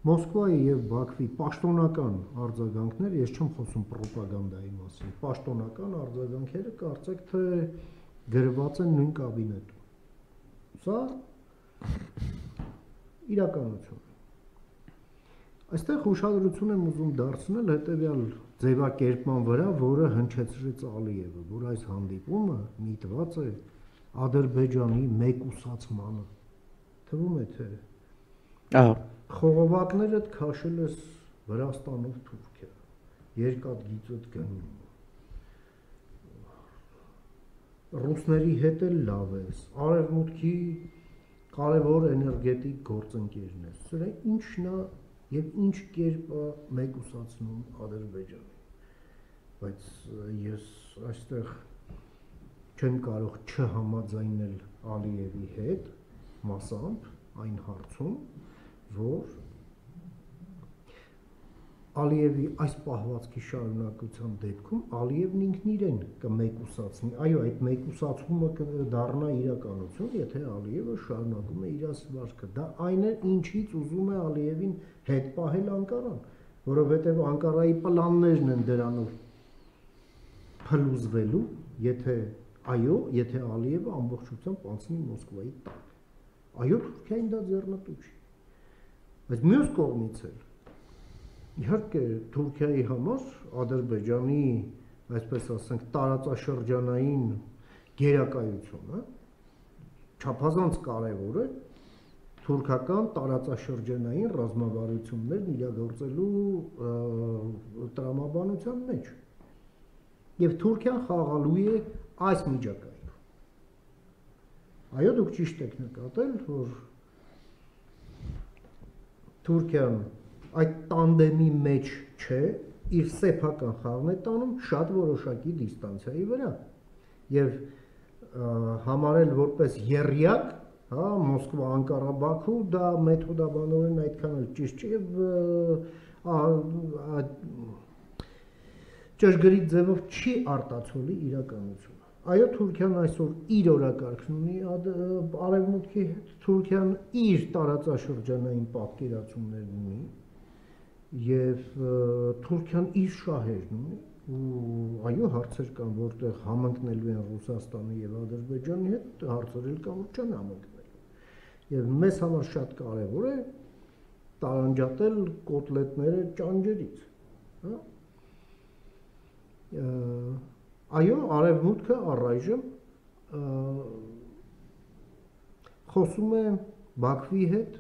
Մոսկվայի եւ Բաքվի պաշտոնական արձագանքները, ես չեմ խոսում պրոպագանդայի մասին, պաշտոնական արձագանքերը կարծեք թե գրված են նույն կաբինետում։ Սա իրականություն է։ Այստեղ ուշադրություն եմ ուզում դարձնել հետևյալ ձևակերպման վրա, որը հնչեցրեց Ալիևը, որ այս հանդիպումը միտված է Ադրբեջանի մեկուսացմանը։ Թվում է թե խողովակներդ քաշել ես Վրաստանով Թուրքիա, երկաթգիծդ գնում, ռուսների հետ էլ լավ ես, արևմուտքի կարևոր էներգետիկ գործընկերն ես, սրա ինչն է եւ ինչ կերպ է մեկուսացնում Ադրբեջանը, բայց ես այստեղ չեմ կարող չհամաձայնել Ալիևի հետ մասամբ այն հարցում, որ Ալիևի այս պահվածքի շարունակության դեպքում Ալիևն ինքն իրեն կմեկուսացնի, այո, այդ մեկուսացումը կդառնա իրականություն, եթե Ալիևը շարունակում է իր ասվածքը, դա այն է, ինչից ուզում է Ալիևին հետ պահել Անկարան, որովհետև Անկարայի պլաններն են դրանով փլուզվելու, եթե այո, եթե Ալիևը ամբողջությամբ անցնի Մոսկվայի տակ, այո, Թուրքիային դա ձեռնտու չի, բայց մյուս կողմից էլ իհարկե Թուրքիայի համար Ադրբեջանի, այսպես ասենք, տարածաշրջանային գերակայությունը չափազանց կարևոր է թուրքական տարածաշրջանային ռազմավարություններն իրագործելու տրամաբանության մեջ։ Եվ Թուրքիան խաղալու է այս միջակայքում։ Այո, դուք ճիշտ եք նկատել, որ Թուրքիան այդ տանդեմի մեջ չէ, իր սեփական խաղն է տանում շատ որոշակի դիստանցիայի վրա եւ համարել որպես եռյակ, հա, Մոսկվա-Անկարա-Բաքու, դա մեթոդաբանորեն այդքան էլ ճիշտ չէ եւ ճշգրիտ ձևով չի արտացոլի իրականությունը։ Այո, Թուրքիան այսօր իր օրակարգն ունի արևմուտքի հետ, Թուրքիան իր տարածաշրջանային պատկերացումներն ունի եւ Թուրքիան իր շահերն ունի ու այո հարցեր կան որտեղ համընկնելու են Ռուսաստանի եւ Ադրբեջանի հետ, հարցեր էլ կան որ չեն համընկնելու եւ մեզ համար շատ կարեւոր է տարանջատել կոտլետները ճանջերից, հա այո արևմուտքը առայժմ խոսում է Բաքվի հետ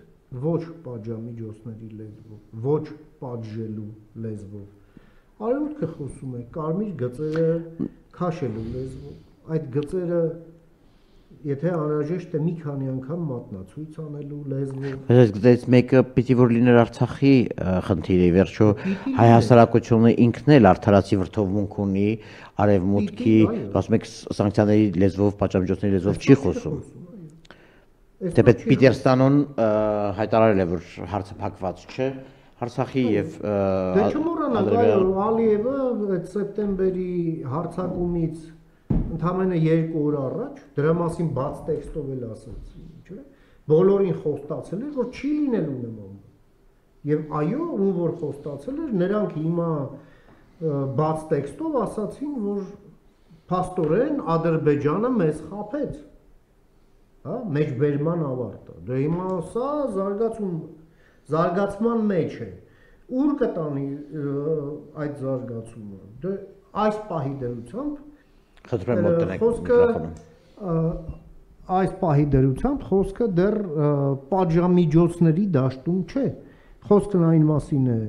ոչ պատժամիջոցների լեզվով, ոչ պատժելու լեզվով։ Արևմուտքը խոսում է կարմիր գծերը քաշելու լեզվով։ Այդ գծերը եթե անհրաժեշտ է մի քանի անգամ մատնացույց անելու լեզվով։ Այս գծերից մեկը պիտի որ լիներ Արցախի խնդիրը, վերջո հայ հասարակությունը ինքն էլ արդարացի վրթովմունք ունի արևմուտքի, ասում եք սանկցիաների լեզվով, պատժամիջոցների լեզվով չի խոսում։ Թեպետ Պիտերստանոն հայտարարել է, որ հարցը փակված չէ, Արցախի եւ Դե չմոռանանք, այո, Ալիևը այդ սեպտեմբերի հարձակումից ընդամենը 2 օր առաջ դրա մասին բաց տեքստով էլ ասաց, չէ՞։ Բոլորին խոստացել էր, որ չի լինելու նման։ Եվ այո, ում որ խոստացել էր, նրանք հիմա բաց տեքստով ասացին, որ փաստորեն Ադրբեջանը մեզ խաբեց։ հա, մեջբերման ավարտը։ Դե հիմա սա զարգացման մեջ է։ Ուր կտանի այդ զարգացումը։ Դե այս պահի դրությամբ խնդրում եմ մոտնեք միկրոֆոնում։ Այս պահի դրությամբ խոսքը դեռ պատժամիջոցների դաշտում չէ։ Խոսքն այն մասին է,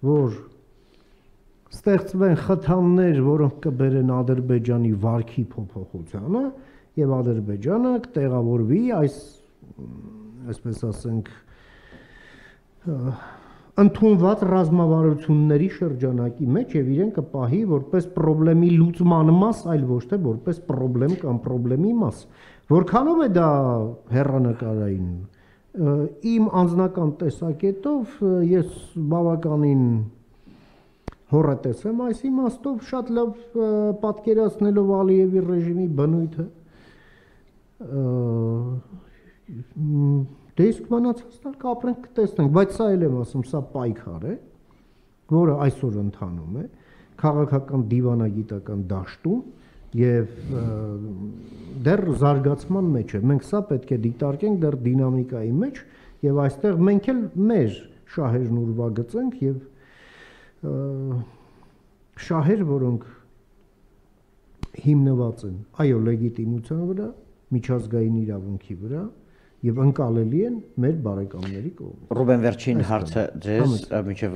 որ ստեղծվեն խթաններ, որոնք կբերեն Ադրբեջանի վարքի փոփոխությանը եւ Ադրբեջանը կտեղավորվի այսպես ասենք ընդունված ռազմավարությունների շրջանակի մեջ եւ իրեն կպահի որպես խնդրի լուծման մաս, այլ ոչ թե որպես խնդրեմ կամ խնդրի մաս։ Որքանով է դա հեռանկարային։ Իմ անձնական տեսակետով ես բավականին հոռետես եմ այս իմաստով, շատ լավ պատկերացնելով Ալիևի ռեժիմի բնույթը։ Դե իսկ մնացածն կապրենք կտեսնենք, բայց սա էլ եմ ասում, սա պայքար է, որը այսօր ընթանում է քաղաքական դիվանագիտական դաշտում եւ դեռ զարգացման մեջ է։ Մենք սա պետք է դիտարկենք դեռ դինամիկայի մեջ եւ այստեղ մենք էլ մեր շահերն ուրվագծենք եւ շահեր, որոնք հիմնված են այո լեգիտիմության վրա, միջազգային իրավունքի վրա եւ ընկալելի են մեր բարեկամների կողմից։ Ռուբեն, վերջին հարցը ձեզ, մինչև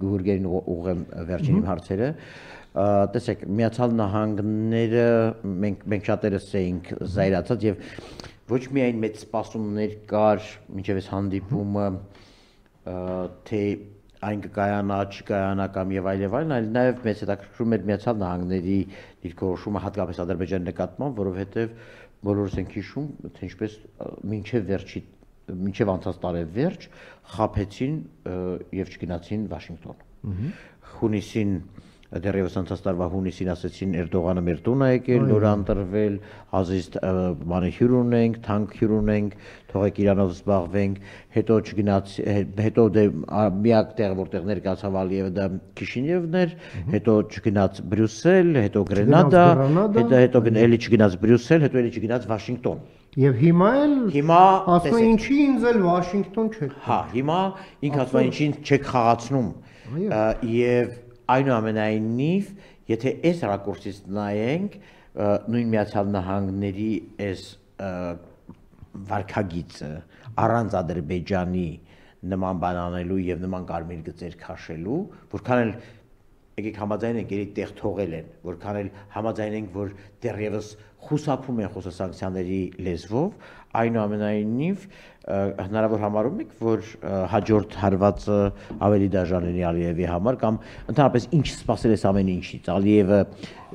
Գուրգերին ուղղեմ վերջին հարցերը։ Տեսեք, Միացյալ Նահանգները մենք շատերս էինք զայրացած եւ ոչ միայն մեծ սպասումներ կար մինչև այս հանդիպումը, թե այն կկայանա, չկայանա կամ եւ այլն, այլ նաեւ մեծ հետաքրքրում էր Միացյալ Նահանգների դիրքորոշումը հատկապես Ադրբեջանի նկատմամբ, որովհետեւ բոլորս ենք հիշում, թե ինչպես մինչև անցած տարեվերջ խաբեցին եւ չգնացին Վաշինգտոն։ Հունիսին դեռևս անցած տարվա հունիսին ասեցին Էրդողանը մեր տուն է եկել, նոր ընտրվել, ազիզ բանը հյուր ունենք, թանկ հյուր ունենք, թողեք իրանով զբաղվենք, հետո չգնաց, հետո դե միակ տեղ որտեղ ներկայացավ Ալիևը դա Քիշինևն էր, հետո չգնաց Բրյուսել, հետո Գրենադա, հետո էլի չգնաց Բրյուսել, հետո էլի չգնաց Վաշինգտոն։ Եւ հիմա ասում է ինչի ինձ էլ Վաշինգտոն չեք։ Հա, հիմա ինքը ասում է ինչի չեք խաղացնում։ Եվ այնուամենայնիվ, եթե այս ռակուրսից նայենք, նույն Միացյալ Նահանգների այս վարքագիծը առանց Ադրբեջանի նման բան անելու եւ նման կարմիր գծեր քաշելու, որքան էլ եկեք համաձայնենք, երի տեղ թողել են, որքան էլ համաձայնենք, որ դեռևս խուսափում են խոսասանկցիաների լեզվով, այնուամենայնիվ հնարավոր համարում եք, որ հաջորդ հարվածը ավելի դաժան լինի Ալիևի համար կամ ընդհանրապես ինչ սպասել է ամեն ինչից։ Ալիևը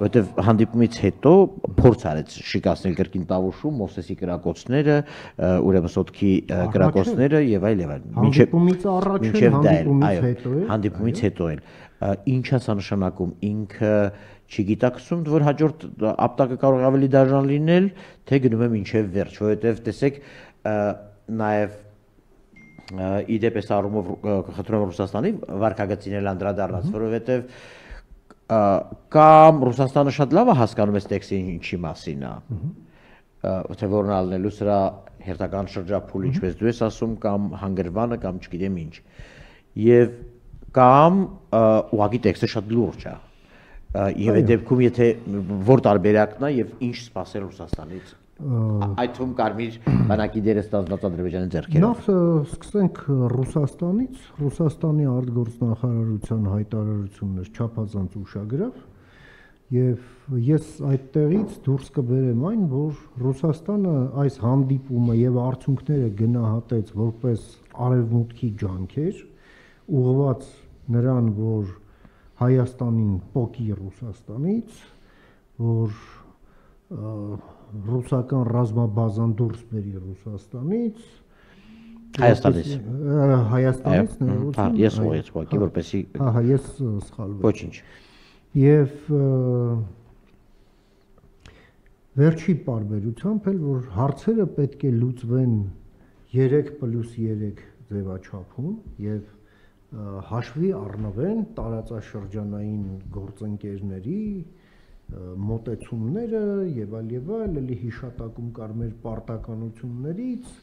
որտեվ հանդիպումից հետո փորձ արեց շիկացնել կրկին Տավուշում Մովսեսի կրակոցները, ուրեմն Սոտքի կրակոցները եւ այլ եւ այլ։ Հանդիպումից առաջ հանդիպումից հետո էլ ինչա սա նշանակում, ինքը չգիտակցում, որ հաջորդ ապտակը կարող է ավելի դաժան լինել, թե գնում է մինչև վերջ, որովհետև տեսեք նաև իդեպ այս առումով խնդրում եմ Ռուսաստանի վարքագծին էլ անդրադառնաց, որովհետև կամ Ռուսաստանը շատ լավ է հասկանում այս տեքստի ինչի մասին է, թե որն ալնելու սրա հերթական շրջափուլ, ինչպես դու ես ասում, կամ հանգրվանը, կամ չգիտեմ ինչ, եւ կամ ուղղակի տեքստը շատ լուրջ է։ Եվ այդ դեպքում եթե որ տարբերակն է եւ ինչ սпасել Ռուսաստանից այդ թվում կարմիր բանակի դերը ստանձնած Ադրբեջանի ձեռքերով։ Նախ սկսենք Ռուսաստանից, Ռուսաստանի արտգործնախարարության հայտարարությունն էր չափազանց ուշագրավ եւ ես այդտեղից դուրս կբերեմ այն, որ Ռուսաստանը այս հանդիպումը եւ արդյունքները գնահատեց որպես արևմուտքի ջանքեր, ուղղված նրան, որ Հայաստանին պոկի Ռուսաստանից, որ ռուսական ռազմաբազան դուրս բերի Ռուսաստանից, Հայաստանից, ես ուղղեցի, որպեսզի ես սխալվեցի։ Ոչինչ։ Եվ վերջի պարբերությամբ էլ որ հարցերը պետք է լուծվեն 3+3 ձևաչափում եւ հաշվի առնվեն տարածաշրջանային գործընկերների մոտեցումները եւ այլ, էլի հիշատակում կար մեր պարտականություններից,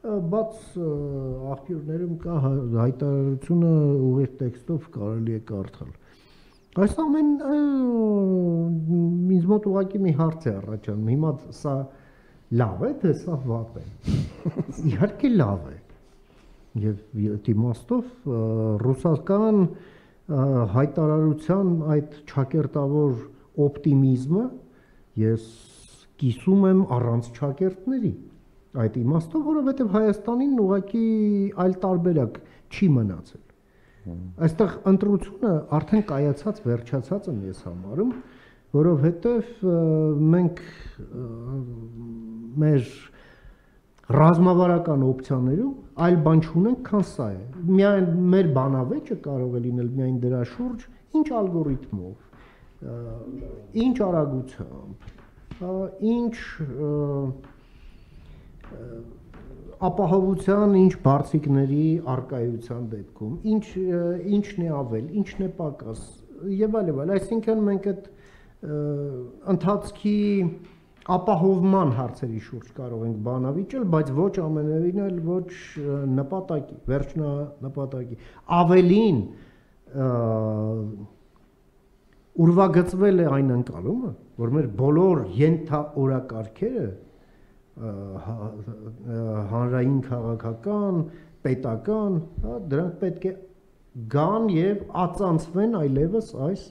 բաց աղբյուրներում կա հայտարարությունը ուղիղ տեքստով կարելի է կարդալ։ Այս ամեն ինձ մոտ ուղղակի մի հարց է առաջանում, հիմա սա լավ է, թե սա վատ է։ Իհարկե լավ է։ Եվ իմաստով ռուսական հայտարարության այդ ճակերտավոր օպտիմիզմը ես կիսում եմ առանց ճակերտների այդ իմաստով, որովհետև Հայաստանին ուղղակի այլ տարբերակ չի մնացել։ Այստեղ ընտրությունը արդեն կայացած վերջացած եմ ես համարում, որովհետև մենք մեր ռազմավարական օպցիաներում այլ բան չունենք, քան սա է։ Միայն մեր բանավեճը կարող է լինել միայն դրա շուրջ, ինչ ալգորիթմով, ինչ արագությամբ, ինչ ապահովության, ինչ բարձիկների արկայության դեպքում, ինչն է ավել, ինչն է պակաս եւ այլ, այսինքն մենք այդ ընթացքի ապահովման հարցերի շուրջ կարող ենք բանավիճել, բայց ոչ ամենևին էլ ոչ նպատակի, վերջնանպատակի։ Ավելին ուրվագծվել է այն ընկալումը, որ մեր բոլոր ենթաօրակարգերը հանրային քաղաքական, պետական, դրանք պետք է գան եւ ածանցվեն այլևս այս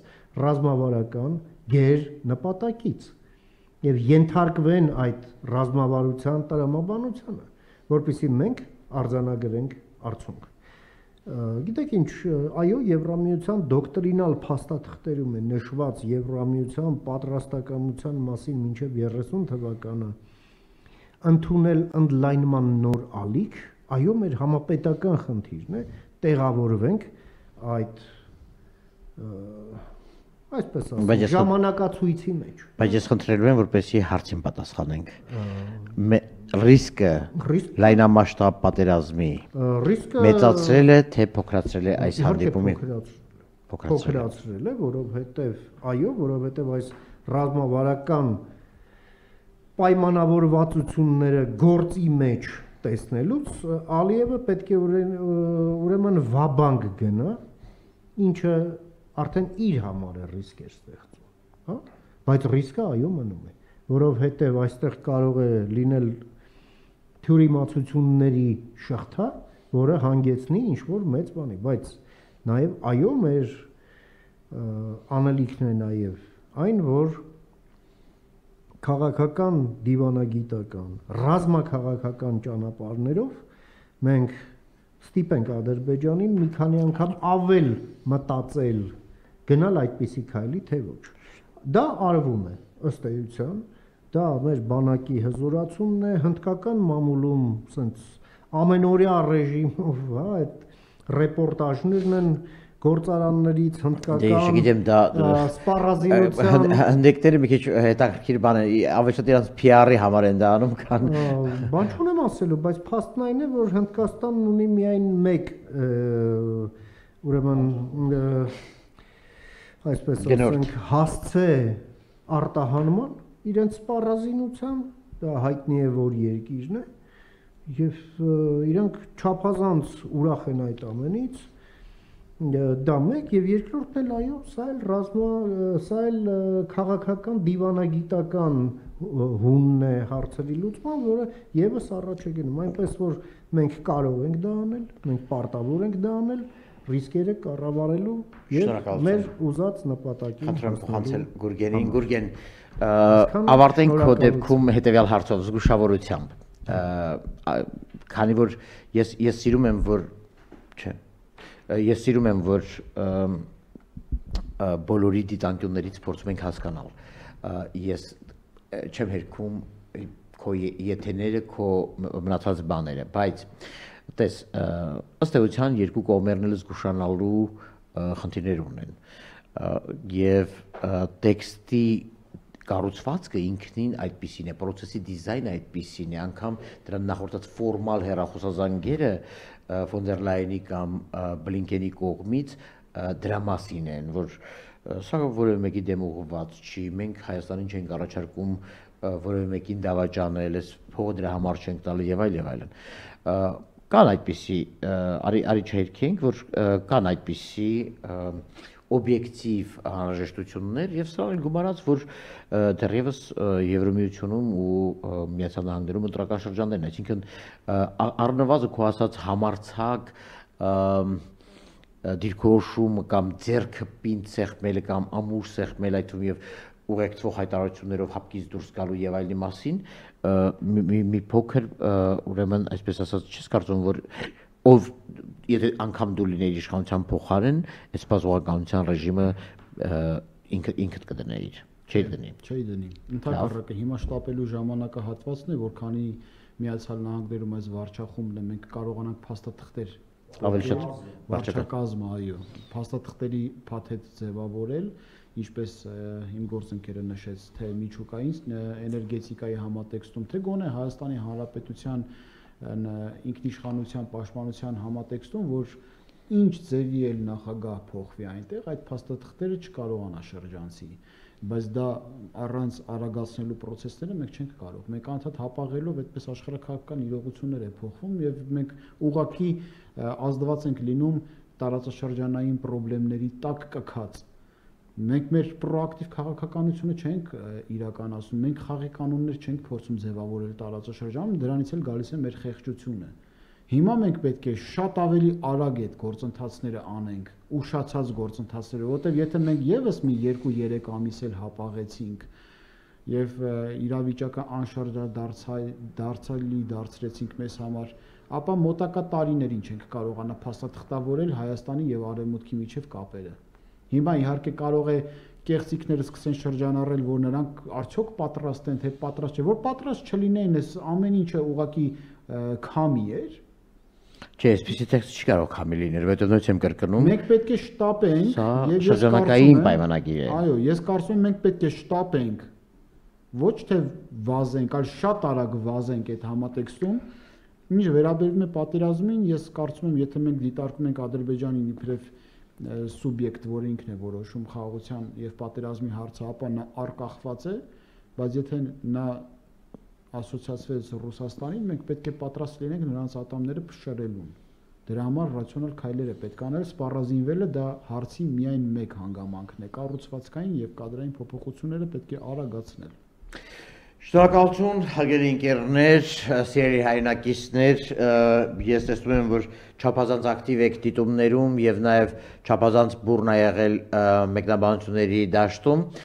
ռազմավարական գեր նպատակից եւ ենթարկվեն այդ ռազմավարության տրամաբանությանը, որպեսզի մենք արձանագրենք արդյունք։ Գիտեք ինչ, այո, Եվրամիության դոկտրինալ փաստաթղթերում է նշված Եվրամիության պատրաստակամության մասին մինչև 30 թվականը ընդունել ընդլայնման նոր ալիք, այո, մեր համապետական խնդիրն է, տեղավորվենք այդ այսպես ասած ժամանակացույցի մեջ։ Բայց ես խնդրելու եմ, որպեսզի հարցին պատասխանենք։ Ռիսկը լայնամասշտաբ պատերազմի մեծացրել է, թե փոքրացրել է այս հանդիպումի։ Փոքրացրել է, որովհետև այո, որովհետև այս ռազմավարական պայմանավորվածությունները գործի մեջ տեսնելուց Ալիևը պետք է ուրեմն վաբանկ գնա, ինչը արդեն իր համար է ռիսկ էր ստեղծում, հա, բայց ռիսկը այո մնում է, որովհետև այստեղ կարող է լինել թյուրիմացությունների շղթա, որը հանգեցնի ինչ-որ մեծ բանի, բայց նաև այո մեր անելիքն է նաև այն, որ քաղաքական, դիվանագիտական, ռազմաքաղաքական ճանապարհներով մենք ստիպենք Ադրբեջանին մի քանի անգամ ավել մտածել, գնալ այդպիսի քայլի, թե ոչ։ Դա արվում է ըստ էության, դա մեր բանակի հզորացումն է, հնդկական մամուլում սենց ամենօրյա ռեժիմով, հա, այդ ռեպորտաժներն են գործարաններից հնդկական սպառազինության հնդիկները մի քիչ հետաքրքիր բան է, ավելի շատ իրաց PR-ի համար են դա անում, քան բան չունեմ ասելու, բայց փաստն այն է, որ Հնդկաստանն ունի միայն մեկ ուրեմն այսպես ասենք հասցե արտահանման իրենց սպառազինության, դա հայտնի է որ երկիրն է եւ իրանք չափազանց ուրախ են այդ ամենից, դա մեկ եւ երկրորդն էլ այո, սա էլ քաղաքական դիվանագիտական հունն է հարցերի լուծման, որը եւս առաջ է գնում, այնպես որ մենք կարող ենք դա անել, մենք պարտավոր ենք դա անել, ռիսկերը կառավարելու եւ մեր ուզած նպատակին հասնելու։ Խնդրեմ Գուրգենին, Գուրգեն, ավարտենք քո դեպքում հետեւյալ հարցով զգուշավորությամբ, քանի որ ես սիրում եմ, որ չէ Ես սիրում եմ, որ բոլորի դիտանկյուններից փորձում ենք հասկանալ։ Ես չեմ հերքում քո եթեները, քո մնացած բաները, բայց տես, ըստ էության երկու կողմերն էլ զգուշանալու խնդիրներ ունեն։ Եվ տեքստի կառուցվածքը ինքնին այդպիսին է, process-ի դիզայնը այդպիսին է, անգամ դրա նախորդած ֆորմալ հեռախոսազանգերը ֆոն դեր Լայենի կամ Բլինկենի կողմից դրա մասին են, որ Սա որևէ մեկի դեմ ուղղված չի, մենք Հայաստանին չենք առաջարկում որևէ մեկին դավաճանել, այս փողը դրա համար չենք տալի եւ այլն։ Կան այդպիսի արի չհերքենք, որ կան այդպիսի օբյեկտիվ անհրաժեշտություններ եւ սրանք գումարած, որ դեռևս Եվրոմիությունում ու Միացյալ Նահանգներում ընտրական շրջաններն, այսինքն առնվազն քո ասած համարցակ դիրքորոշումը կամ ձեռքը պինդ սեղմելը կամ ամուր սեղմել այդ թվում եւ ուղեկցող հայտարարություններով հապկից դուրս գալու եւ այլնի մասին մի փոքր ուրեմն այսպես ասած չես կարծում որ ով եթե անգամ դու լինեիր իշխանության փոխարեն այս բազողականության ռեժիմը ինքդ կդնեիր չի դնի ընդհանրապես հիմա շտապելու ժամանակահատվածն է որքանի Միացյալ Նահանգներում այս վարչախումբն է մենք կարողանանք փաստաթղթեր ավելի շատ վարչակազմը, այո, փաստաթղթերի փաթեթ ձևավորել, ինչպես իմ գործընկերը նշեց, թե միջուկային էներգետիկայի համատեքստում, թե գոնե Հայաստանի Հանրապետության ինքնիշխանության պաշտպանության համատեքստում, որ ինչ ձևի էլ նախագահ փոխվի այնտեղ, այդ փաստաթղթերը չկարողանա շրջանցի, բայց դա առանց արագացնելու process-ները մենք չենք կարող։ Մենք անդադ հապաղելով այդպես աշխարհաքաղաքական իրողություններ է փոխվում եւ մենք ուղղակի ազդված ենք լինում տարածաշրջանային խնդիրների տակ կքած։ Մենք մեր պրոակտիվ քաղաքականությունը չենք իրականացնում, մենք խաղի կանոններ չենք փորձում ձևավորել տարածաշրջանում, դրանից էլ գալիս է մեր խեղճությունը։ Հիմա մենք պետք է շատ ավելի արագ այդ գործընթացները անենք, ուշացած գործընթացները, որովհետև եթե մենք եւս մի 2-3 ամիս էլ հապաղեցինք եւ իրավիճակը անշարժ դարձրեցինք մեզ համար, ապա մոտակա տարիներին չենք կարողանա փաստաթղթավորել Հայաստանի եւ Արևմուտքի միջև կապերը։ Հիմա իհարկե կարող է կեղծիքները սկսեն շրջանառել, որ նրանք արդյոք պատրաստ են, թե պատրաստ չէ, որ պատրաստ չլինեն, այս ամեն ինչը ուղղակի քամի էր։ Չէ, այսպեսի տեքստ չի կարող քամի լինել, որովհետև նույնիսկ եմ կրկնում։ Մենք պետք է շտապենք եւ շրջանակային պայմանագիր է։ Այո, ես կարծում եմ մենք պետք է շտապենք, ոչ թե վազենք, այլ շատ արագ վազենք այդ համատեքստում։ Ինչ վերաբերում է պատերազմին, ես կարծում եմ, եթե մենք դիտարկում ենք Ադրբեջանին իբրև սուբյեկտ, որը ինքն է որոշում խաղաղության եւ պատերազմի հարցը, ապա նա արկախված է, բայց եթե նա ասոցիացվեց Ռուսաստանին, մենք պետք է պատրաստ լինենք նրանց ատամները փշրելուն։ Դրա համար ռացիոնալ քայլեր է պետք անել, սպառազինվելը դա հարցի միայն մեկ հանգամանքն է, կառուցվածքային եւ կադրային փոփոխությունները պետք է արագացնել։ Շնորհակալություն, հարգելի ընկերներ, սիրելի հայրենակիցներ, ես տեսնում եմ, որ չափազանց ակտիվ եք դիտումներում եւ նաեւ չափազանց բուռն ա եղել մեկնաբանությունների դաշտում։